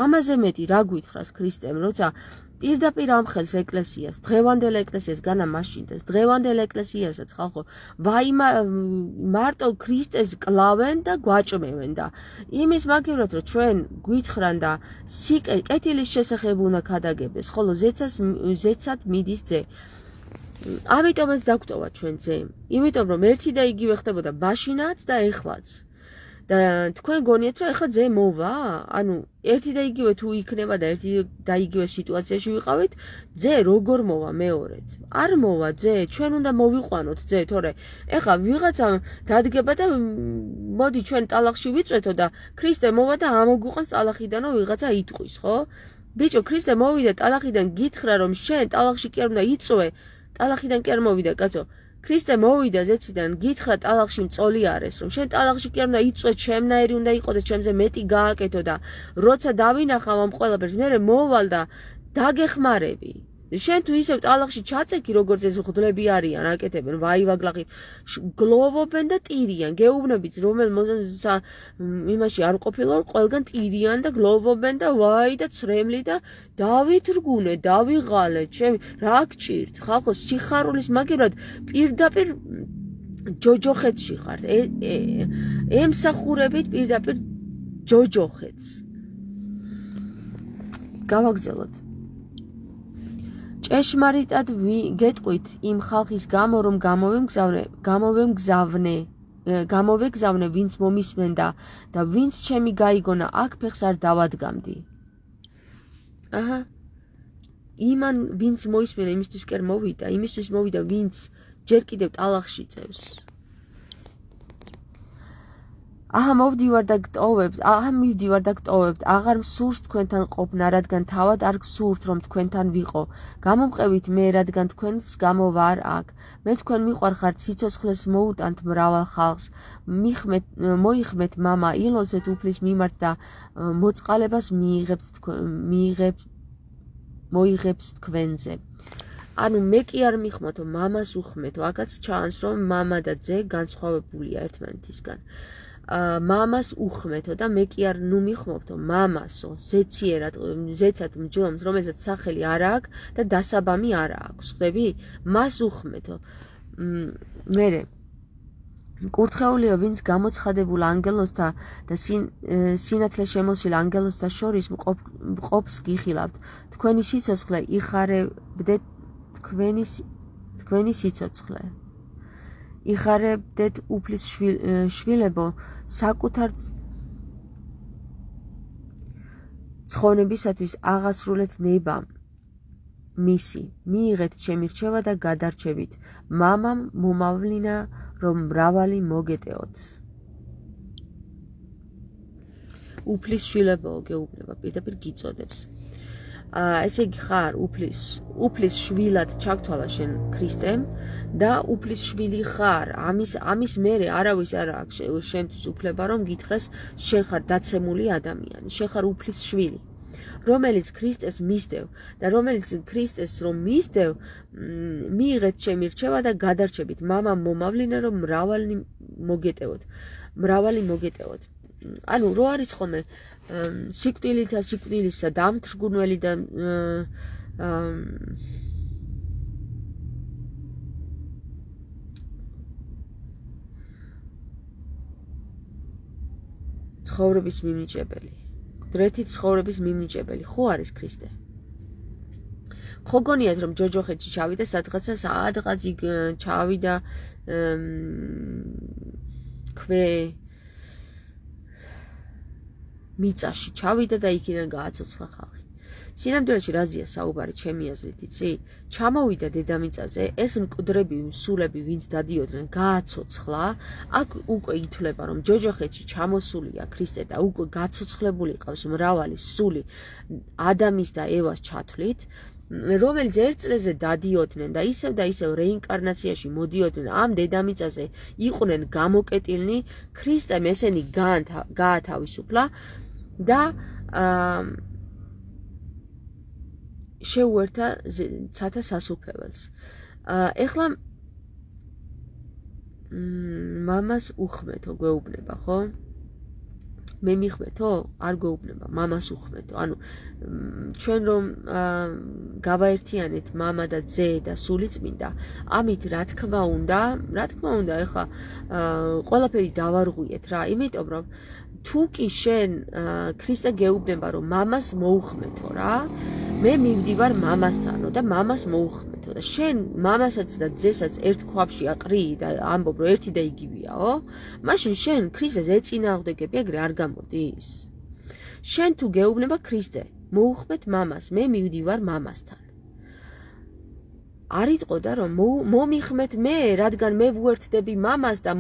Speaker 1: ამაზე მეტი რა გვითხრას ქრისტემ, როცა პირდაპირ ამხელს ეკლესიას, დღევანდელ ეკლესიას განა მაშინდას, დღევანდელ ეკლესიასაც ხალხო, მარტო ქრისტეს კლავენ და გვაჭმევენ და იმის მაგივრად რომ ჩვენ გვითხრან და კეთილის შესახებ უნდა გადაგებდეს, ხოლო ზეცად მიდის ძე. ამიტომაც დაგვტოვა ჩვენ ძე, იმიტომ რომ ერთი და იგივე ხდებოდა მაშინაც და ეხლაც. და თქვენ გონიათ რომ ეხლა ძე მოვა? ანუ ერთი და იგივე თუ იქნება და ერთი და იგივე სიტუაციაში ვიყავით, ძე როგორ მოვა მეორედ? არ მოვა ძე, ჩვენ უნდა მოვიყვანოთ ძე, თორე ეხლა ვიღაცამ დადგება და მოდი ჩვენ ტალახში ვიწვეთო და ქრისტე მოვა და ამოგვიყვანს ტალახიდანო ვიღაცა იტყვის, ხო? ბიჭო, ქრისტე მოვიდა ტალახიდან გითხრა რომ შენ ტალახში კი არ უნდა იწვე, ტალახიდან კი არ მოვიდა კაცო. ქრისტე მოვიდა ზეციდან გითხრა ტალახში მწოლი არის, რომ შენ ტალახში კი არ უნდა იწვე, ჩემნაირი უნდა იყო და ჩემზე მეტი გააკეთო და როცა დავინახავ ამ ყველაფერს, მე მოვალ და დაგეხმარები. შენ თუ ისევ ტალახში ჩაწექი, როგორც ეს ღვთლები არიან, აკეთებენ, ვაივაგლახით, გლოვობენ და ტირიან, გეუბნებით, რომელ იმაში არ ყოფილა, ყველგან ტირიან და გლოვობენ და ვაი და ცრემლი და დავითრგუნე, დავიღალე, ჩემი რა გჭირთ, ხალხო, სიხარულის მაგივრად პირდაპირ ჯოჯოხეთში ხართ, ემსახურებით პირდაპირ ჯოჯოხეთს. გავაგრძელოთ. ჭეშმარიტად გეტყვით იმ ხალხის გამო, რომ გამოვეგზავნე, ვინც მომისმენდა და ვინც ჩემი გაიგონა, აქ ფეხს არ დავადგამდი. აჰა. იმან ვინც მოისმენა, იმისთვის კი არ მოვიდა, იმისთვის მოვიდა, ვინც ჯერ კიდევ ტალახში წევს. აჰა მივდივარ და გტოვებთ, აღარ მსურს თქვენთან ყოფნა, რადგან თავად არ გსურთ, რომ თქვენთან ვიყო. გამომყევით მე, რადგან თქვენს გამო ვარ აქ. მე თქვენ მიყვარხართ, სიცოცხლეს მოუტანთ მრავალ ხალხს. მოიხმეთ მამა ილოცეთ უფლის მიმართ და მოწყალებას მოიღებს თქვენზე. ანუ მე კი არ მიხმათო, მამას უხმეთო. აქაც ჩანს, რომ მამა და ძე განსხვავებულია ერთმანეთისგან. მამას უხმეთო და მე კი არ მიხმობთო მამასო, ზეცად მჯომს, რომელსაც სახელი არ აქვს და დასაბამი არ აქვს, ხვდები? მას უხმეთო. მერე კურთხეულია, ვინც გამოცხადებულ ანგელოზთა და სინათლე შემოსილ ანგელოზთა შორის მყოფს გიხილავთ. თქვენი სიცოცხლე იხარებდეთ თქვენი სიცოცხლე. იხარებდეთ უფლის შვილებო, საკუთარ ცხონებისათვის აღასრულეთ ნება მისი. მიიღეთ ჩემი რჩევა და გადარჩებით. მამამ მომავლინა, რომ მრავალი მოგეტეოთ. უფლის შვილებო გეუბნება, პირდაპირ გიწოდებს. ესე იგი ხარ უფლის შვილად ჩაგთვალა შენ ქრისტემ და უფლის შვილი ხარ. ამის მერე არავის არ აქვს შენთვის უფლება რომ გითხრას შენ ხარ დაცემული ადამიანი, შენ ხარ უფლის შვილი, რომელიც ქრისტეს მისდევ და რომელიც ქრისტეს რომ მისდევ, მიიღეთ ჩემი რჩევა და გადარჩებით მამამ მომავლინე რომ მრავალი მოგეტევოთ. ანუ რო არის ხოლმე სიკვდილითა სიკვდილისა დამთრგუნველი და ცხოვრების მიმნიჭებელი, დრეთით ცხოვრების მიმნიჭებელი ხო არის ქრისტე? ხო გონიათ რომ ჯოჯოხეთში ჩავიდა სადღაცა სადღაც ჩავიდა მიწაში ჩავიდა და იქიდან გააცოცხლა ხალხი. სინამდვილეში რაზეა საუბარი ჩემი აზრით, იცი? ჩამოვიდა დედამიწაზე, ეს მკვდრები სულები, ვინც დადიოდნენ, გააცოცხლა, აქ უკვე ითვლება, რომ ჯოჯოხეთში ჩამოსულია ქრისტე და უკვე გაცოცხლებული ყავს მრავალი სული ადამის და ევას ჩათვლით, რომელიც ერთ წრეზე დადიოდნენ და ისევ რეინკარნაციაში მოდიოდნენ ამ დედამიწაზე, იყვნენ გამოკეტილნი, ქრისტემ ესენი გაათავისუფლა და შეუერთა ცათა სასუფეველს. ეხლა მამას უხმეთო, გვეუბნება, ხო? მე მიხმეთო? არ გვეუბნება, მამას უხმეთო. ანუ ჩვენ რომ გავაერთიანეთ მამა და ძე და სულიწმინდა, ამით რა თქმა უნდა, ეხლა ყველაფერი დავარღვიეთ რა, იმიტომ რომ თუ კი შენ ქრისტე გეუბნება რომ მამას მოუხმეთო რა, მე მივდივარ მამასთანო და მამას მოუხმეთო და შენ მამასაც და ძესაც ერთ ქვაბში აყრიი და ამბობ რომ ერთი და იგივეაო, მაშინ შენ ქრისტეს ეწინააღმდეგები, ეგრე არ გამოდის. შენ თუ გეუბნება ქრისტე მოუხმეთ მამას, მე მივდივარ მამასთან. არ იტყოდა რომ მომიხმეთ მე, რადგან მე ვუერთდები მამას და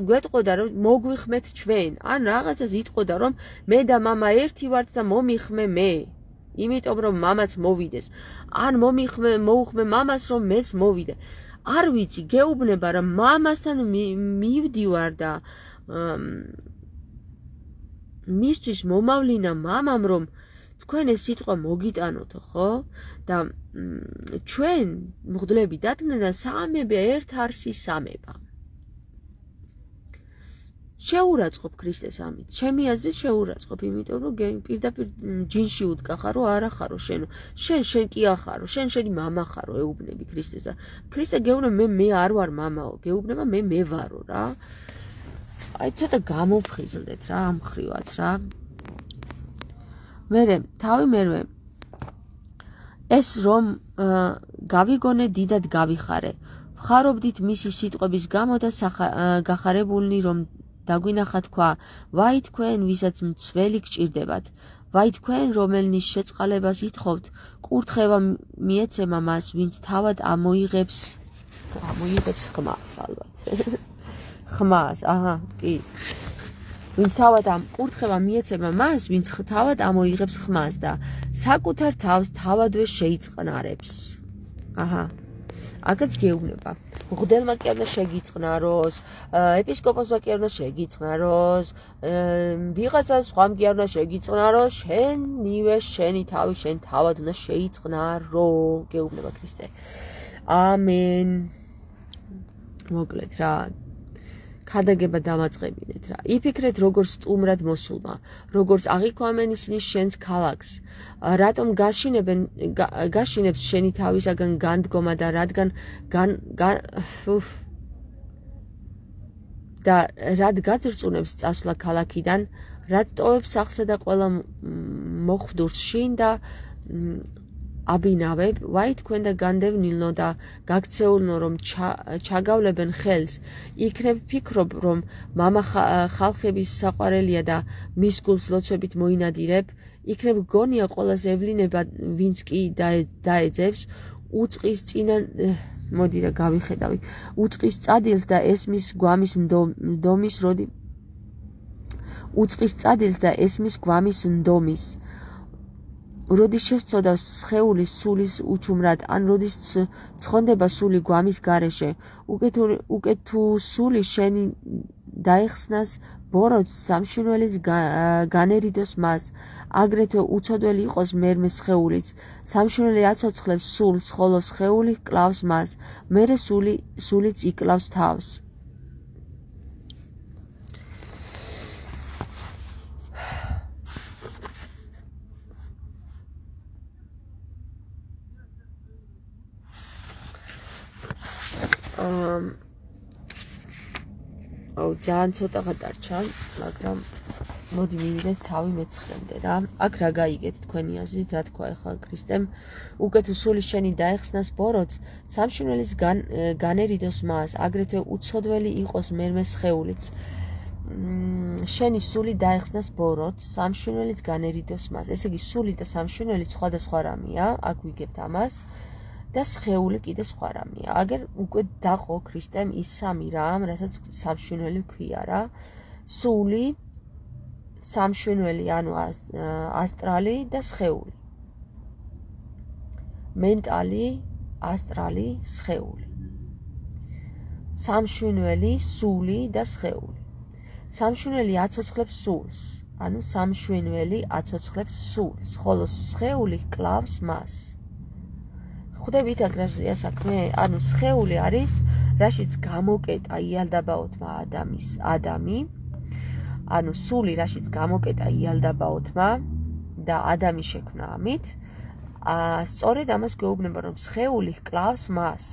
Speaker 1: გვეტყოდა რომ მოგვიხმეთ ჩვენ. ან რაღაცას იტყოდა რომ მე და მამა ერთი ვართ და მომიხმე მე. იმიტომ რომ მამაც მოვიდეს. ან მოუხმე მამას რომ მეც მოვიდე. არ ვიცი, გეუბნება რომ მამასთან მივდივარ და მისთვის მომავლინა მამამ რომ თქვენ ეს სიტყვა მოგიტანოთო, ხო? და ჩვენ მღვდლები დადგნენ და სამება ერთ არსის სამება. შეურაცხყოფ ქრისტეს ამით. ჩემი აზრით შეურაცხყოფ, იმიტომ რომ პირდაპირ ჯინში უდგახარო, არა ხარო შენო. შენ კი ახარო, შენი მამა ხარო, ეუბნები ქრისტეს და ქრისტე გეუბნება მე არ ვარ მამაო, გეუბნება მე ვარო რა. აი ცოტა გამოფხიზლდეთ რა ამ ხრივაც რა. მერე ეს რომ გავიგონე დიდად გავიხარე. ვხარობდით მისი სიტყვების გამო და გახარებულნი რომ დაგვინახა თქვა, ვაი თქვენ, ვისაც მცველი გჭირდებათ, ვაი თქვენ, რომელნის შეწყალებას ითხოვთ, კურთხევა მიეცემა მას, ვინც თავად ამოიღებს ხმას ალბათ. ხმას, კი. ვინც კურთხევა მიეცემა მას, ვინც თავად ამოიღებს ხმას და საკუთარ თავს თავადვე შეიწყნარებს. აქაც გეუბნება. მღვდელმა კი არ უნდა შეგიწყნაროს, ეპისკოპოსმა კი არ უნდა შეგიწყნაროს, ვიღაცა სხვამ კი არ უნდა შეგიწყნაროს, შენივე შენი თავი შენ თავად უნდა შეიწყნარო, გეუბნება ქრისტე. ამენ. მოკლედ რა. ქადაგება დამაწყებინეთ რა. იფიქრეთ როგორც სტუმრად მოსულმა, როგორც აღიქვამენ ისინი შენს ქალაქს. რატომ გაშინებს შენი თავისაგან განდგომა და რადგან და რად გაძრწუნებს წასვლა ქალაქიდან, რად ტოვებს სახსა და ყველა მოხვდურს შინ და აბინავებ, ვაი თქვენ და განდევნილნო და გაქცეულნო რომ ჩაგავლებენ ხელს, იქნებ ფიქრობ რომ მამა ხალხების საყვარელია და მის გულს ლოცვებით მოინადირებ, იქნებ გონია ყოველას ევლინება ვინც კი დაეძებს, უწყის წინა მოდი რა გავიხედავით, უწყის წადილს და ესმის გვამის ნდომის როდი უწყის წადილს და ესმის გვამის ნდომის როდის შესწოდავს სხეულის სულის უჩუმრად, ან როდის ცხონდება სული გვამის გარეშე, უკეთ თუ სული შენი დაეხსნას ბოროტს სამშვენელის განერიდოს მას, აგრეთვე უცოდველი იყოს მერმე სხეულიც, სამშვენელი აცოცხლებს სულს, ხოლო სხეული კლავს მას, მერე სულიც იკლავს თავს. ძალიან ცოტა გადარჩა, მაგრამ მოდი მივიდეთ თავი მეცხრემდე რა. აქ რა გაიგეთ თქვენი აზრით, რა თქვა ახლა ქრისტემ? უკეთ სული შენი დაეხსნას ბოროტს, სამშვენელის განერიდოს მას, აგრეთვე უცოდველი იყოს მერმე სხეულიც. შენი სული დაეხსნას ბოროტს, სამშვენელის განერიდოს მას. ესე იგი, სული და სამშვენელი სხვადასხვა რამეა, აქ ვიგებთ ამას. და სხეული კიდე სხვა რამეა. აგერ უკვე დაყო ქრისტემ ის სამი რამ, რასაც სამშვენელი ქვია რა. სული, სამშვენელი, ანუ ასტრალი და სხეული. მენტალი, ასტრალი, სხეული. სამშვენელი, სული და სხეული. სამშვენელი აცოცხლებს სულს, ანუ სამშვენელი აცოცხლებს სულს, ხოლო სხეული კლავს მას. ხვდებით აქ რაზეა საქმე? ანუ სხეული არის, რაშიც გამოკეტა იალდაბაოთმა ადამი, ანუ სული რაშიც გამოკეტა იალდაბაოთმა და ადამი შექმნა ამით, სწორედ ამას გვეუბნება, რომ სხეული კლავს მას,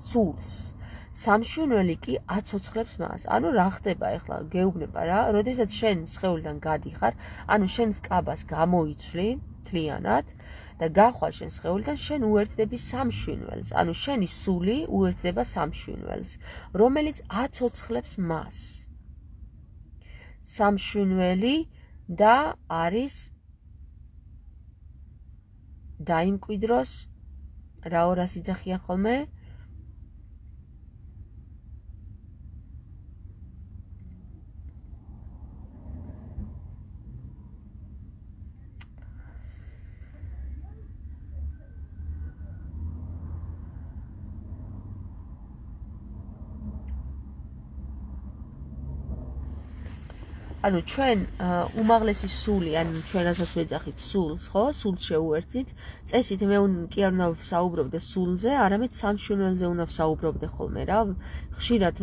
Speaker 1: სულს, სამშვენელი კი აცოცხლებს მას. ანუ რა ხდება ახლა? გეუბნება რა, როდესაც შენ სხეულიდან გადიხარ, ანუ შენ სკაბას გამოიცვლი მთლიანად და გახვალ შენ სხეულიდან, შენ უერთდები სამშვენელს, ანუ შენი სული უერთდება სამშვენელს, რომელიც აცოცხლებს მას. სამშვენელი და არის დაიმკვიდროს, რა ორას იძახიან ხოლმე? ანუ ჩვენ უმაღლესი სული, ანუ ჩვენ რასაც ვეძახით სულს, ხო? სულს შეუერთდით. წესით მე კი არ უნდა ვსაუბრობდე სულზე, არამედ სამშვენელზე უნდა ვსაუბრობდე ხოლმე რა. ხშირად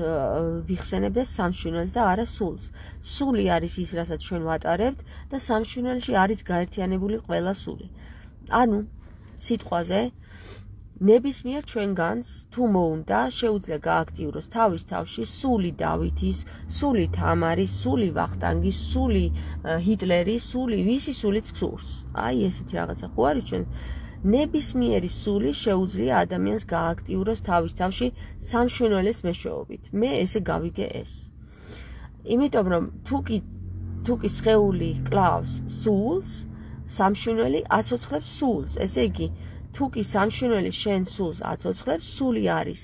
Speaker 1: ვიხსენებდე სამშვენელს და არა სულს. სული არის ის, რასაც ჩვენ ვატარებთ და სამშვენელში არის გაერთიანებული ყველა სული. ანუ სიტყვაზე ნებისმიერ ჩვენგანს თუ მოუნდა შეუძლია გააქტიუროს თავის თავში სული დავითის, სული თამარის, სული ვახტანგის, სული ჰიტლერის, სული ვისი სულიც გსურს. აი ესეთი რაღაცა ხო არის ჩვენ? ნებისმიერი სული შეუძლია ადამიანს გააქტიუროს თავის თავში სამშვენელის მეშვეობით. მე ესე გავიგე ეს. იმიტომ რომ თუ კი სხეული კლავს სულს, სამშვენელი აცოცხლებს სულს. ესე იგი თუ კი სამშვენელი შენ სულს აცოცხლებს, სული არის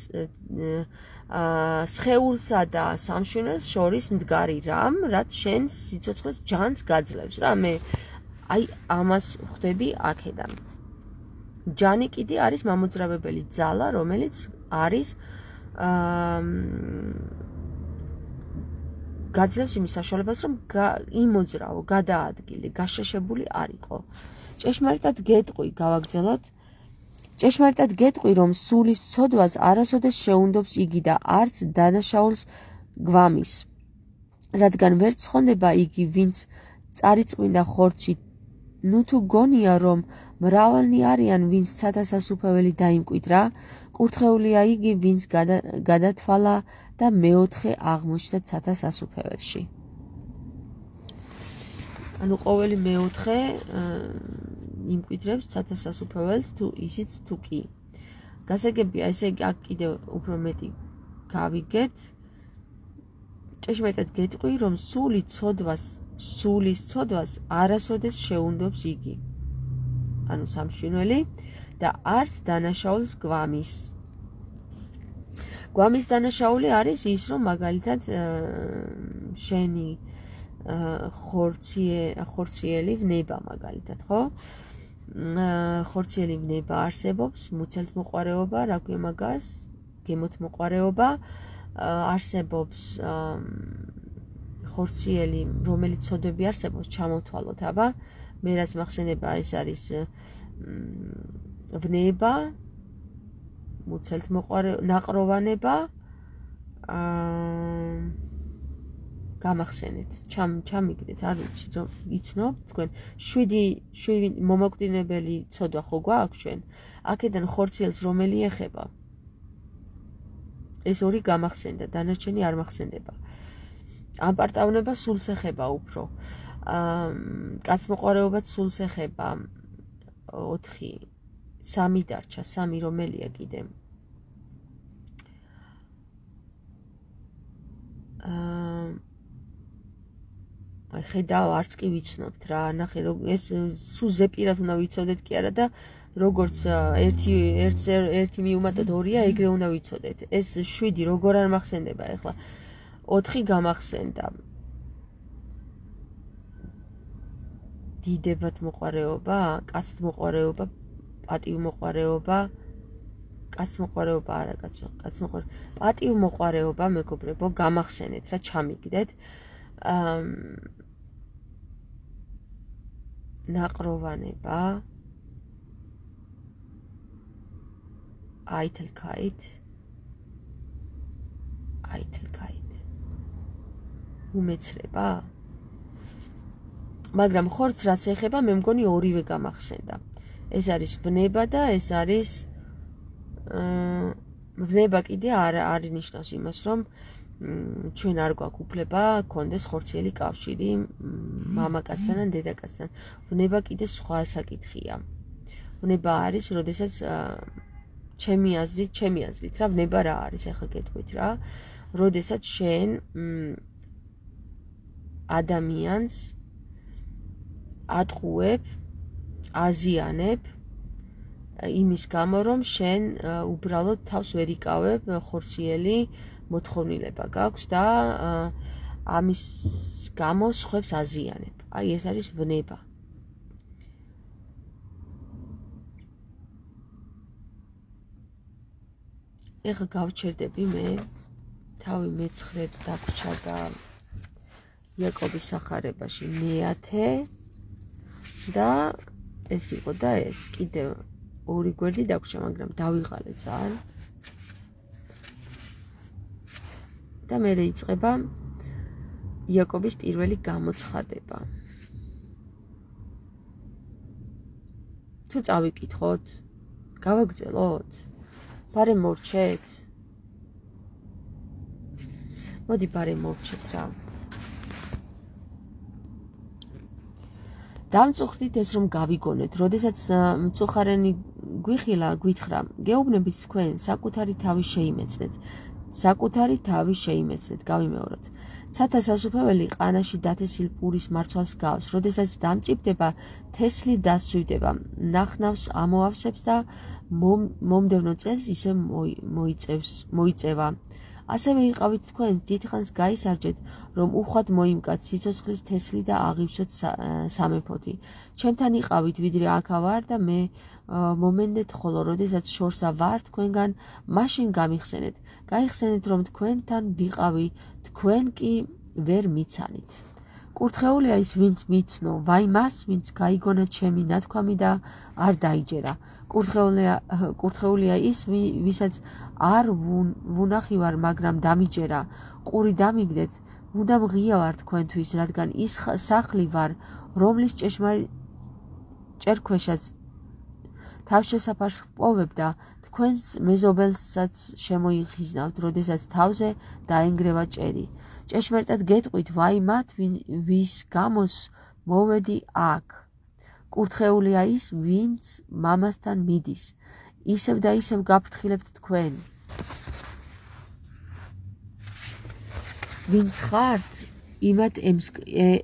Speaker 1: სხეულსა და სამშვენელს შორის მდგარი რამ, რაც შენ სიცოცხლეს ჯანს გაძლევს რა. მე აი ამას ხვდები აქედან. ჯანი კიდე არის მამოძრავებელი ძალა, რომელიც არის გაძლევს იმის საშუალებას, რომ იმოძრავო, გადაადგილე, გაშაშებული არ იყო. ჭეშმარიტად გეტყვი, გავაგრძელოთ. ჭეშმარიტად გეტყვი, რომ სულის ცოდვას არასოდეს შეუნდობს იგი და არც დანაშაულს გვამის. რადგან ვერ ცხონდება იგი, ვინც წარიწმინდა ხორცი, ნუ თუ გონია, რომ მრავალნი არიან, ვინც ცათასასუფეველი დაიმკვიდრა, კურთხეულია იგი, ვინც გადათვალა და მეოთხე აღმოჩნდა ცათასასუფეველში. ანუ ყოველი მეოთხე იმკვიდრებს ცათასასუფეველს თუ ისიც თუ კი. გასაგებია, ესე იგი აქ კიდევ უფრო მეტი გავიგეთ. ჭეშმარიტად გეტყვი, რომ სულის ცოდვას არასოდეს შეუნდობს იგი. ანუ სამშვენელი და არც დანაშაულს გვამის. გვამის დანაშაული არის ის, რომ მაგალითად შენი ხორციელი ვნება მაგალითად, ხო? ხორციელი ვნება არსებობს, მუცელთმოყვარეობა, რა ქვია მაგას, გემოთმოყვარეობა, არსებობს ხორციელი, რომელიც ცოდვები არსებობს, ჩამოვთვალოთ, აბა, მე რაც მახსენდება, ეს არის ვნება, მუცელთმოყვარეობა, ნაყროვანება, გამახსენეთ, ჩამიგდეთ, არ ვიცი, რომ იცნობ თქვენ 7 მომაკვდინებელი ცოდვა ხო გვაქვს ჩვენ? აქედან ხორციელს რომელი ეხება? ეს ორი გამახსენდა, დანარჩენი არ მახსენდება. ამპარტავნება სულს ეხება უფრო. კაცმოყვარეობაც სულს ეხება. 4, 3 დარჩა, 3 რომელია კიდე? აი ხედავ, არც კი ვიცნობთ რა, ნახე ეს სულ ზეპირად უნდა ვიცოდეთ კი არა და როგორც ერთი მიუმატოთ 2-ია, ეგრე უნდა ვიცოდეთ. ეს 7 როგორ არ მახსენდება ახლა? 4 გამახსენდა. დიდებად მოყვარეობა, კაცთმოყვარეობა, პატივმოყვარეობა, კაცმოყვარეობა არა, კაცმოყვარეობა, პატივმოყვარეობა, მეგობრებო, გამახსენეთ რა, ჩამიგდეთ. ნაყროვანება, აითლქაით, უმეცრება, მაგრამ ხორცს რაც ეხება, მე მგონი ორივე გამახსენდა. ეს არის ვნება და ეს არის ვნება კიდე არ ნიშნავს იმას, რომ ჩვენ არ გვაქვს უფლება გქონდეს ხორციელი კავშირი მამაკაცთან ან დედაკაცთან. ვნება კიდე სხვა საკითხია. ვნება არის, როდესაც ჩემი აზრით რა, ვნება რა არის, ახლა გეტყვით რა. როდესაც შენ ადამიანს ატყუებ, აზიანებ იმის გამო, რომ შენ უბრალოდ თავს ვერ იკავებ ხორციელი მოთხოვნილება გაქვს და ამის გამო სხვებს აზიანებ. აი ეს არის ვნება. ეხლა გავჩერდები მე, თავი მე-9 დაგვრჩა და იაკობის სახარებაში მე-10 და ეს იყო და ეს კიდევ 2 გვერდი დაგვრჩა, მაგრამ დავიღალე ძალიან. და მე იწყება იაკობის პირველი გამოცხადება. თუ წავიკითხოთ, გავაგრძელოთ, ბარე მორჩეთ. მოდი ბარე მორჩეთ რა. დამწუხდით ეს რომ გავიგონეთ, როდესაც მწუხარენი გვიხილა, გვითხრა, გეუბნებით თქვენ, საკუთარი თავი შეიმეცნეთ. საკუთარი თავი შეიმეცნეთ, გავიმეოროთ. ცათა სასუფეველი ყანაში დათესილ პურის მარცვალს გავს, როდესაც დამწიფდება, თესლი დასწვივდება, ნახნავს ამოავსებს და მომდევნო წელს ისე მოიწევა. ასევე იყავით თქვენ, დიდხანს გაისარჯეთ, რომ უხვად მოიმკათ სიცოცხლის თესლი და აღივსოთ სამეფოთი. ჩემთან იყავით, ვიდრე აქა ვარ და მე მომენდეთ, ხოლო როდესაც შორსა ვარ თქვენგან, მაშინ გამიხსენეთ. გაიხსენეთ, რომ თქვენთან ვიყავი, თქვენ კი ვერ მიცანით. კურთხეულია ის, ვინც მიცნო, ვაი მას, ვინც გაიგონა ჩემი ნათქვამი და არ დაიჯერა. კურთხეულია ის, ვისაც არ ვუნახი ვარ, მაგრამ დამიჯერა. ყური დამიგდეთ, მუდამ ღია ვარ თქვენთვის, რადგან ის სახლი ვარ, რომლის ჭერქვეშაც თავშესაფარს პოვებ და თქვენს მეზობელსაც შემოიხიზნავთ, როდესაც თავზე დაენგრევა ჭერი. ჭეშმარიტად გეტყვით, ვაი მათ, ვის გამოს მოვედი აქ. კურთხეულია ის, ვინც მამასთან მიდის. ისევ და ისევ გაფრთხილებთ თქვენ. ვინც ხართ, იმათ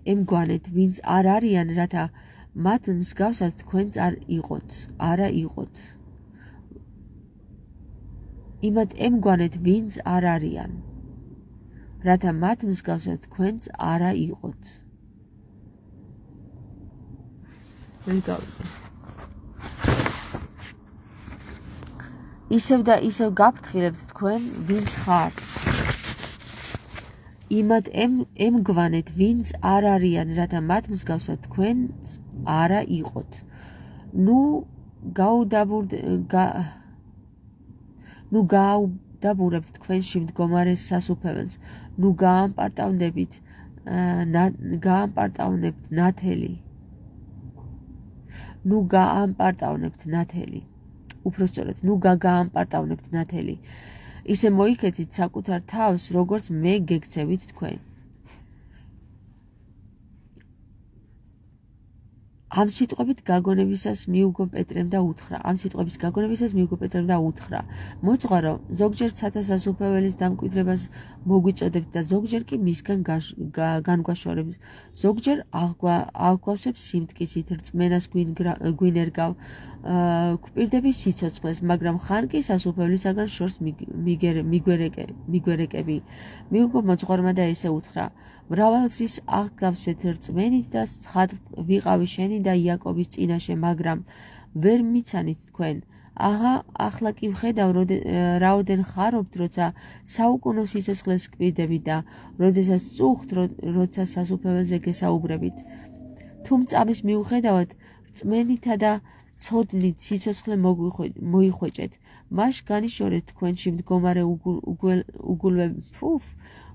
Speaker 1: ემგვანეთ, ვინც არ არიან, რათა მათ მსგავსად თქვენც არა იყოთ. იმათ ემგვანეთ, ვინც არ არიან, რათა მათ მსგავსად თქვენც არა იყოთ. მე გავიგე. ისევ და ისევ გაფრთხილებთ თქვენ ვინც ხართ. იმათ ემგვანეთ ვინც არ არიან, რათა მათ მსგავსად თქვენც არა იყოთ. ნუ გააუდაბურებთ თქვენში მდგომარე სასუფეველს, ნუ გაამპარტავნებთ ნათელი. უпроსწორად, ნუ გაგაამპარტავნებთ ნათელი. ისე მოიქეცით საკუთარ თავს, როგორც მე გექცევით თქვენ. ამ სიტყვებით გაგონებისას მიუგო პეტრემ და უთხრა. მოძღვარო, ზოგჯერ ცათა სასუფეველის დამკვიდრებას მოგვიწოდებთ და ზოგჯერ კი მისგან განგვაშორებთ. ზოგჯერ აღგვავსებ სიმტკიცით, რწმენას გვინერგავ, გვპირდები სიცოცხლეს, მაგრამ ხან კი სასუფევლისაგან შორს მიგვერეკები. მიუგო მოძღვარმა და ესე უთხრა. მრავალგზის აღგავსეთ რწმენით და ცხად ვიყავი შენი და იაკობის წინაშე, მაგრამ ვერ მიცანით თქვენ. აჰა, ახლა კი ვხედავ, რაოდენ ხარობთ, როცა საუკუნო სიცოცხლეს გვპირდებით და როდესაც წუხთ, როცა სასუფეველზე გესაუბრებით. თუ მწამის მიუხედავად, რწმენითა და ცოდნით სიცოცხლე მოიხვეჭეთ. მას განიშორეთ თქვენში მდგომარე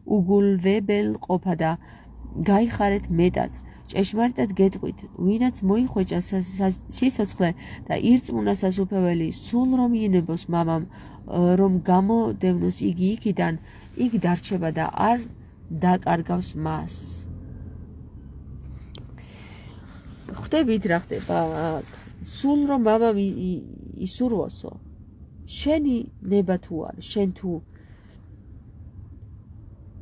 Speaker 1: უგულვებელყოფა და გაიხარეთ მეტად. ჭეშმარიტად გეტყვით, ვინაც მოიხვეჭა სიცოცხლე და ირწმუნა სასუფეველი, სულ რომ იენებოს მამამ, რომ გამოდევნოს იგი იქიდან, იქ დარჩება და არ დაკარგავს მას. ხვდებით რა ხდება? სულ რომ მამამ ისურვოსო, შენი ნება თუ არა, შენ თუ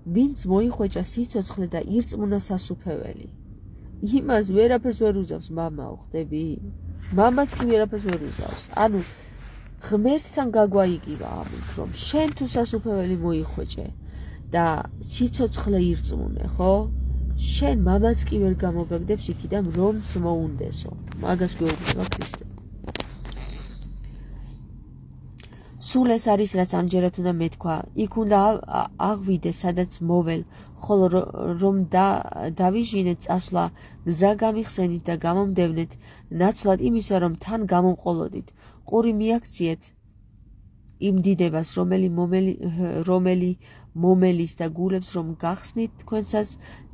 Speaker 1: ვინც მოიხვეჭა სიცოცხლე და ირწმუნა სასუფეველი, იმას ვერაფერს ვერ უზავს მამაო, ხვდები? მამაც კი ვერაფერს ვერ უზავს. ანუ ღმერთთან გაგვაიგივა ამით, რომ შენ თუ სასუფეველი მოიხვეჭე და სიცოცხლე ირწმუნე, ხო? შენ მამაც კი ვერ გამოგაგდებს იქიდან, რომც მოუნდესო. მაგას გვეუბნება ქრისტე. სულ ეს არის, რაც ამჯერად უნდა მეთქვა. იქ უნდა აღვიდე, სადაც მოվել, ხოლო რომ დავიჟინეთ წასვლა, გზა გამიხსენით და გამომდევნეთ, ნაცვლად იმისა, რომ თან გამომყოლოდით. ყური მიაქციეთ იმ დიდებას, რომელი მომელის და გულებს რომ გახსნით თქვენსას,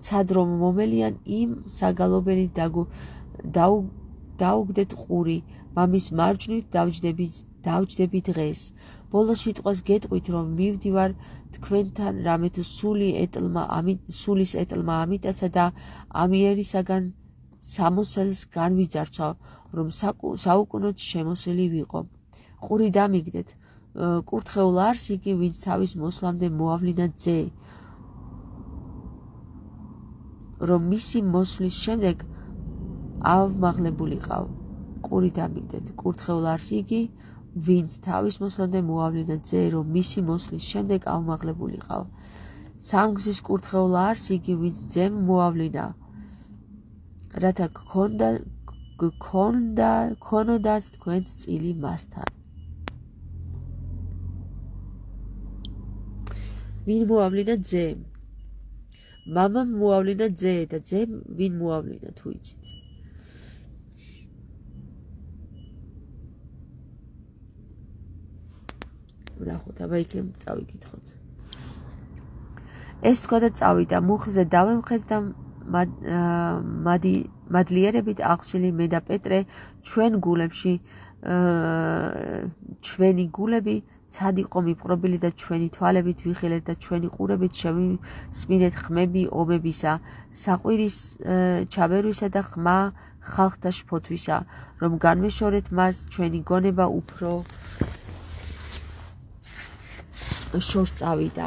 Speaker 1: ცად რომ მომელიან იმ საგალობელი დაუგდეთ ყური, მამის მარჯვნივ დავჯდები დღეს. ბოლო სიტყვას გეტყვით, რომ მივდივარ თქვენთან, რამე თუ სულის ეტლმა ამიტაცა და ამიერისაგან სამოსელს განვიძარცვა, რომ საუკუნოდ შემოსილი ვიყო. ყური დამიგდეთ, კურთხეულ არს იგი, ვინც თავის მოსვლამდე მოავლინა ძე, რომ მისი მოსვლის შემდეგ ავმაღლებულიყავ. ყური დამიგდეთ, კურთხეულ არს იგი, ვინც თავის მოსვლამდე მოავლინა ძე, რომ მისი მოსვლის შემდეგ ავმაღლებულიყავ. სამგზის კურთხეულ არს იგი, ვინც ძემ მოავლინა, რათა გქონოდათ თქვენც წილი მასთან. ვინ მოავლინა ძემ? მამამ მოავლინა ძე და ძემ ვინ მოავლინა, თუ იცით? ვნახოთ, აბა იქნებ წავიკითხოთ. ეს თქვა და წავიდა, მუხლზე დავემხეთ და მადლიერებით აღსილი მე და პეტრე ჩვენ გულებში, ჩვენი გულები ცად იყო მიპყრობილი და ჩვენი თვალებით ვიხილეთ და ჩვენი ყურებით შევისმინეთ ხმები ომებისა, საყვირის ჩაბერვისა და ხმა ხალხთა შფოთვისა, რომ განვეშორეთ მას ჩვენი გონება უფრო შორს წავიდა.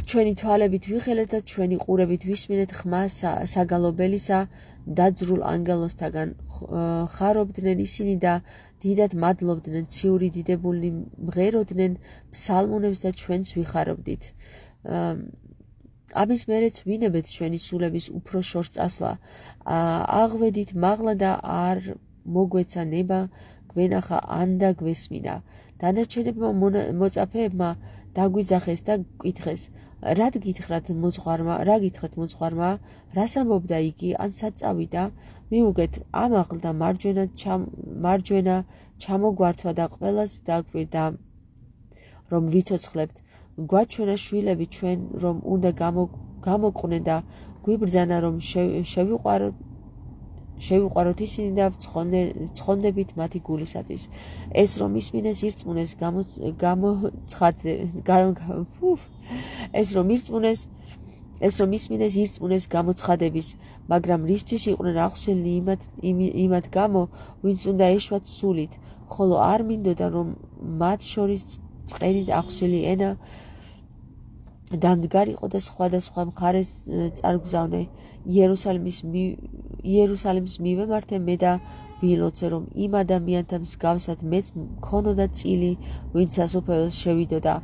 Speaker 1: ჩვენი თვალებით ვიხელეთ და ჩვენი ყურებით ვისმინეთ ხმა საგალობელისა, დაძრულ ანგელოსთაგან ხარობდნენ ისინი და დიდად მადლობდნენ, ციური დიდებული მღეროდნენ ფსალმუნებს და ჩვენც ვიხარობდით. ამის მერეც ვინებეთ ჩვენი სულების უფრო შორს წასვლა, აღვედით მაღლა და არ მოგვეცა ნება გვენახა ან და გვესმინა დანარჩენებმა მოწაფეებმა დაგვიძახეს და გკითხეს რა გითხრათ მოძღვარმა რას ამბობდა იგი ან სად წავიდა მიუგეთ ამაღლ და მარჯვენა ჩამოგვართვა და ყველას დაგვირდა რომ ვიცოცხლებთ გვაჩვენა შვილები ჩვენ რომ უნდა გამოყვნენ და გვიბრძანა რომ შევიყვაროთ ისინი და ვცხონდებით მათი გულისათვის ეს რომ ისმინეს ირწმუნეს ირწმუნეს გამოცხადების მაგრამ რისთვის იყვნენ ახსენილი იმათ გამო ვინც უნდა ეშვათ სულით ხოლო არ მინდოდა რომ მათ შორის წყენით ახსენილი ენა დამდგარიყო და სხვადასხვა მხარეს წარგზავნე იერუსალიმს მივემართე მე და ვილოცე რომ იმ ადამიანთა მსგავსად მეც მქონოდა წილი ვინც სასופველს შევიდოდა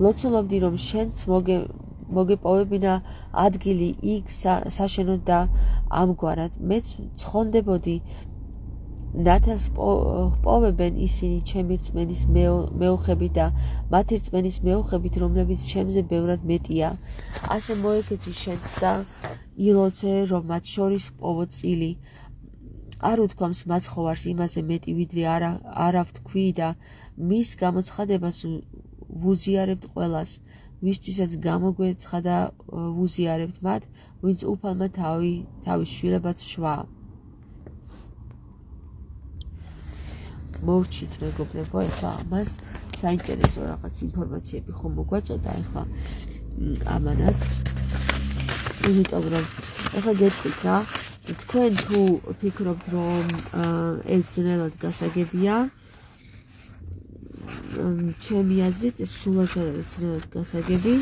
Speaker 1: ლოცულობდი რომ შენც მოგეპოვებინა ადგილი იქ საშენოდ და ამგვარად მეც ცხონდებოდი ნათელს პოვებენ ისინი ჩემი რწმენის მეუხებით და მათი რწმენის მეუხებით რომლებიც ჩემზე ბევრად მეტია ასე მოეკეცი შენც და ილოცე რომ მათ შორის პოვო წილი არ უთქვამს მაცხოვარს იმაზე მეტი ვიდრე არა ვთქვი და მის გამოცხადებას ვუზიარებთ ყველას ვისთვისაც გამოგვეცხადა ვუზიარებთ მათ ვინც უფალმა თავის შვილებად შვა მოვჩით მეგობრებო ეხლა ამას საინტერესო რაღაც ინფორმაციები ხომ მოგვაწოდა ეხლა ამანაც იმიტომ რომ ეხლა გეტყვით რა თქვენ თუ ფიქრობთ რომ ეს ძნელად გასაგებია ჩემი აზრით ეს სულაც არ არის ძნელად გასაგები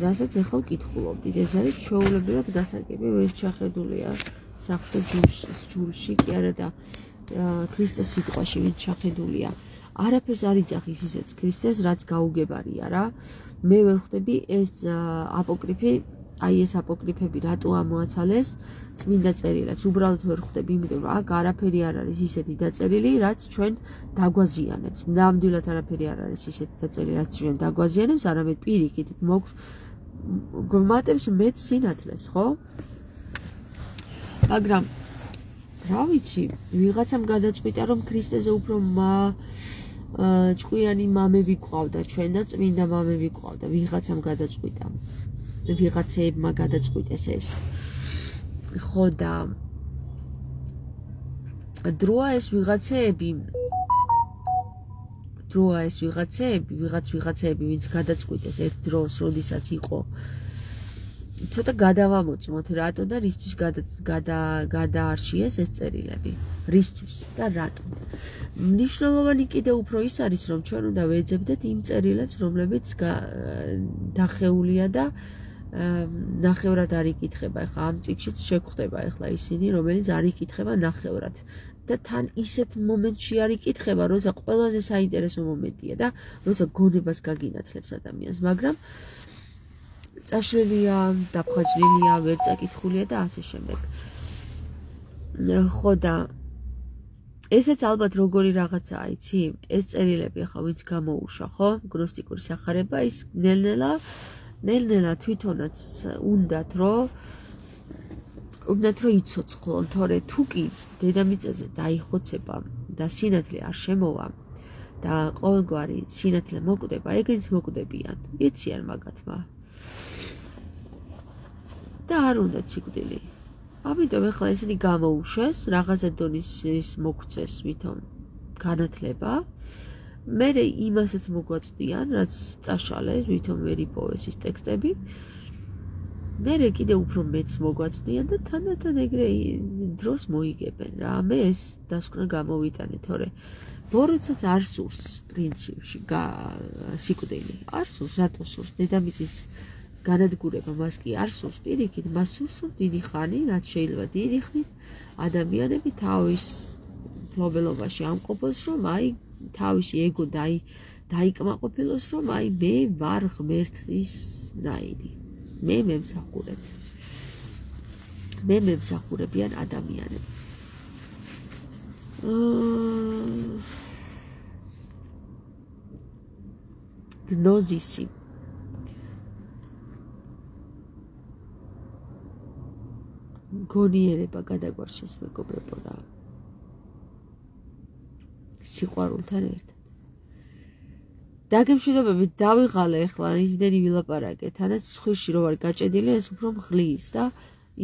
Speaker 1: რასაც ეხლა ვკითხულობდით ეს არის ჩვეულებრივად გასაგები ვინც ჩახედულია საღვთო ჯულში კი არა და ქრისტეს სიტყვაში ვინც ჩახედულია არაფერს არ იძახის ისეც ქრისტეს რაც გაუგებარია რა მე ვერ ხვდები ეს აპოკრიფი აი ეს აპოკრიფები რატო ამოაცალეს წმინდა წერილებს უბრალოდ ვერ ხვდები იმიტომ რომ აქ არაფერი არ არის ისეთი დაწერილი რაც ჩვენ დაგვაზიანებს ნამდვილად არაფერი არ არის ისეთი დაწერილი რაც ჩვენ დაგვაზიანებს არამედ პირიქით გვმატებს მეტ სინათლეს ხო მაგრამ რა ვიცი ვიღაცამ გადაწყვიტა რომ ქრისტეზე უფრო ჭკვიანი მამები ყავდა ჩვენ და წმინდა მამები ყავდა ვიღაცამ გადაწყვიტა ვიღაცეებმა გადაწყვიტეს ეს ხო და დროა ეს ვიღაცეები ვიღაცეები ვინც გადაწყვიტეს ერთ დროს როდესაც იყო ცოტა გადავამოწმოთ რატო და რისთვის გადაარჩიეს ეს წერილები რისთვის და რატო მნიშვნელოვანი კიდე უფრო ის არის რომ ჩვენ უნდა ვეძებდეთ იმ წერილებს რომლებიც დახეულია და ნახევრად არ იკითხება ეხლა ამ წიგნშიც შეგხვდება ეხლა ისინი რომელიც არ იკითხება ნახევრად და თან ისეთ მომენტში არ იკითხება როცა ყველაზე საინტერესო მომენტია და როცა გონებას გაგინათლებს ადამიანს მაგრამ წაშლილია, დაფხაჭრილია, ვერ წაკითხულია და ასე შემდეგ. ხო და ესეც ალბათ როგორი რაღაცაა, იცი? ეს წერილები ახლა ვინც გამოუშვა, ხო? გნოსტიკური სახარება ის ნელ-ნელა თვითონაც უნდათ რომ იცოცხლონ, თორე თუ კი დედამიწაზე დაიხოცება და სინათლე არ შემოვა და ყოველგვარი სინათლე მოკვდება, ეგენც მოკვდებიან. იციან მაგათმა. და არ უნდა სიკვდილი. ამიტომ ახლა ისინი გამოუშვეს, რაღაცა დონის ის მოგვწეს ვითომ განათლება. მერე იმასაც მოგვაწვდიან, რაც წაშალეს, ვითომ ვერ იპოვეს ის ტექსტები. მერე კიდე უფრო მეც მოგვაწვდიან და თანდათან ეგრე დროს მოიგებენ რა. მე ეს დასკვნა გამოვიტანე, თორე ბოროტსაც არ სურს პრინციპში სიკვდილი. არ სურს, რატო სურს? დედამიწის განადგურება მას კი არ სურს პირიქით, მას სურს რომ დიდი ხანი, რაც შეიძლება დიდი ხნით ადამიანები თავის მფლობელობაში ამყოფოს, რომ აი თავისი ეგო დაიკმაყოფილოს, რომ აი მე ვარ ღმერთის ნაირი. მე მემსახურეთ. მე მემსახურებიან ადამიანები. გნოზისი გონიერება გადაგვარჩეს მეგობრებო რა სიყვარულთან ერთად დაგემშვიდობებით დავიღალე ახლა იმდენი ვილაპარაკე თანაც ცხვირში რო ვარ გაჭედილი ეს უფრო მღლის და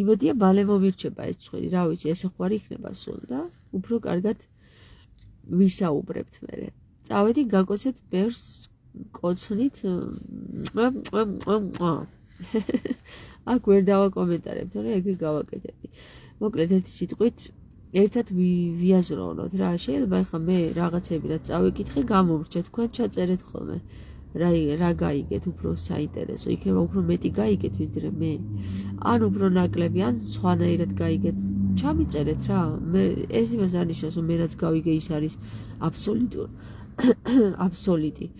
Speaker 1: იმედია ბალე მომირჩება ეს ცხვირი რა ვიცი ესე ხვარი იქნება სულ და უფრო კარგად ვისაუბრებთ მერე წავედი გაკოცეთ ბევრს კოცნით აქ ვერ დავაკომენტარებ თორე ეგრე გავაკეთებდი მოკლედ ერთი სიტყვით ერთად ვიაზროვნოთ რა შეიძლება ახლა მე რაღაცები რაც წავიკითხე გამომრჩა თქვენ ჩაწერეთ ხოლმე რა გაიგეთ უფრო საინტერესო იქნება უფრო მეტი გაიგეთ ვიდრე მე ან უფრო ნაკლები ან სხვანაირად გაიგეთ ჩამიწერეთ რა მე ეს იმას არ ნიშნავს რომ მე რაც გავიგე ის არის აბსოლუტი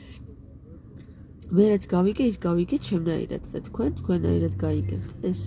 Speaker 1: მე რაც გავიგე ის გავიგეთ ჩემნაირად და თქვენ თქვენაირად გაიგებთ ეს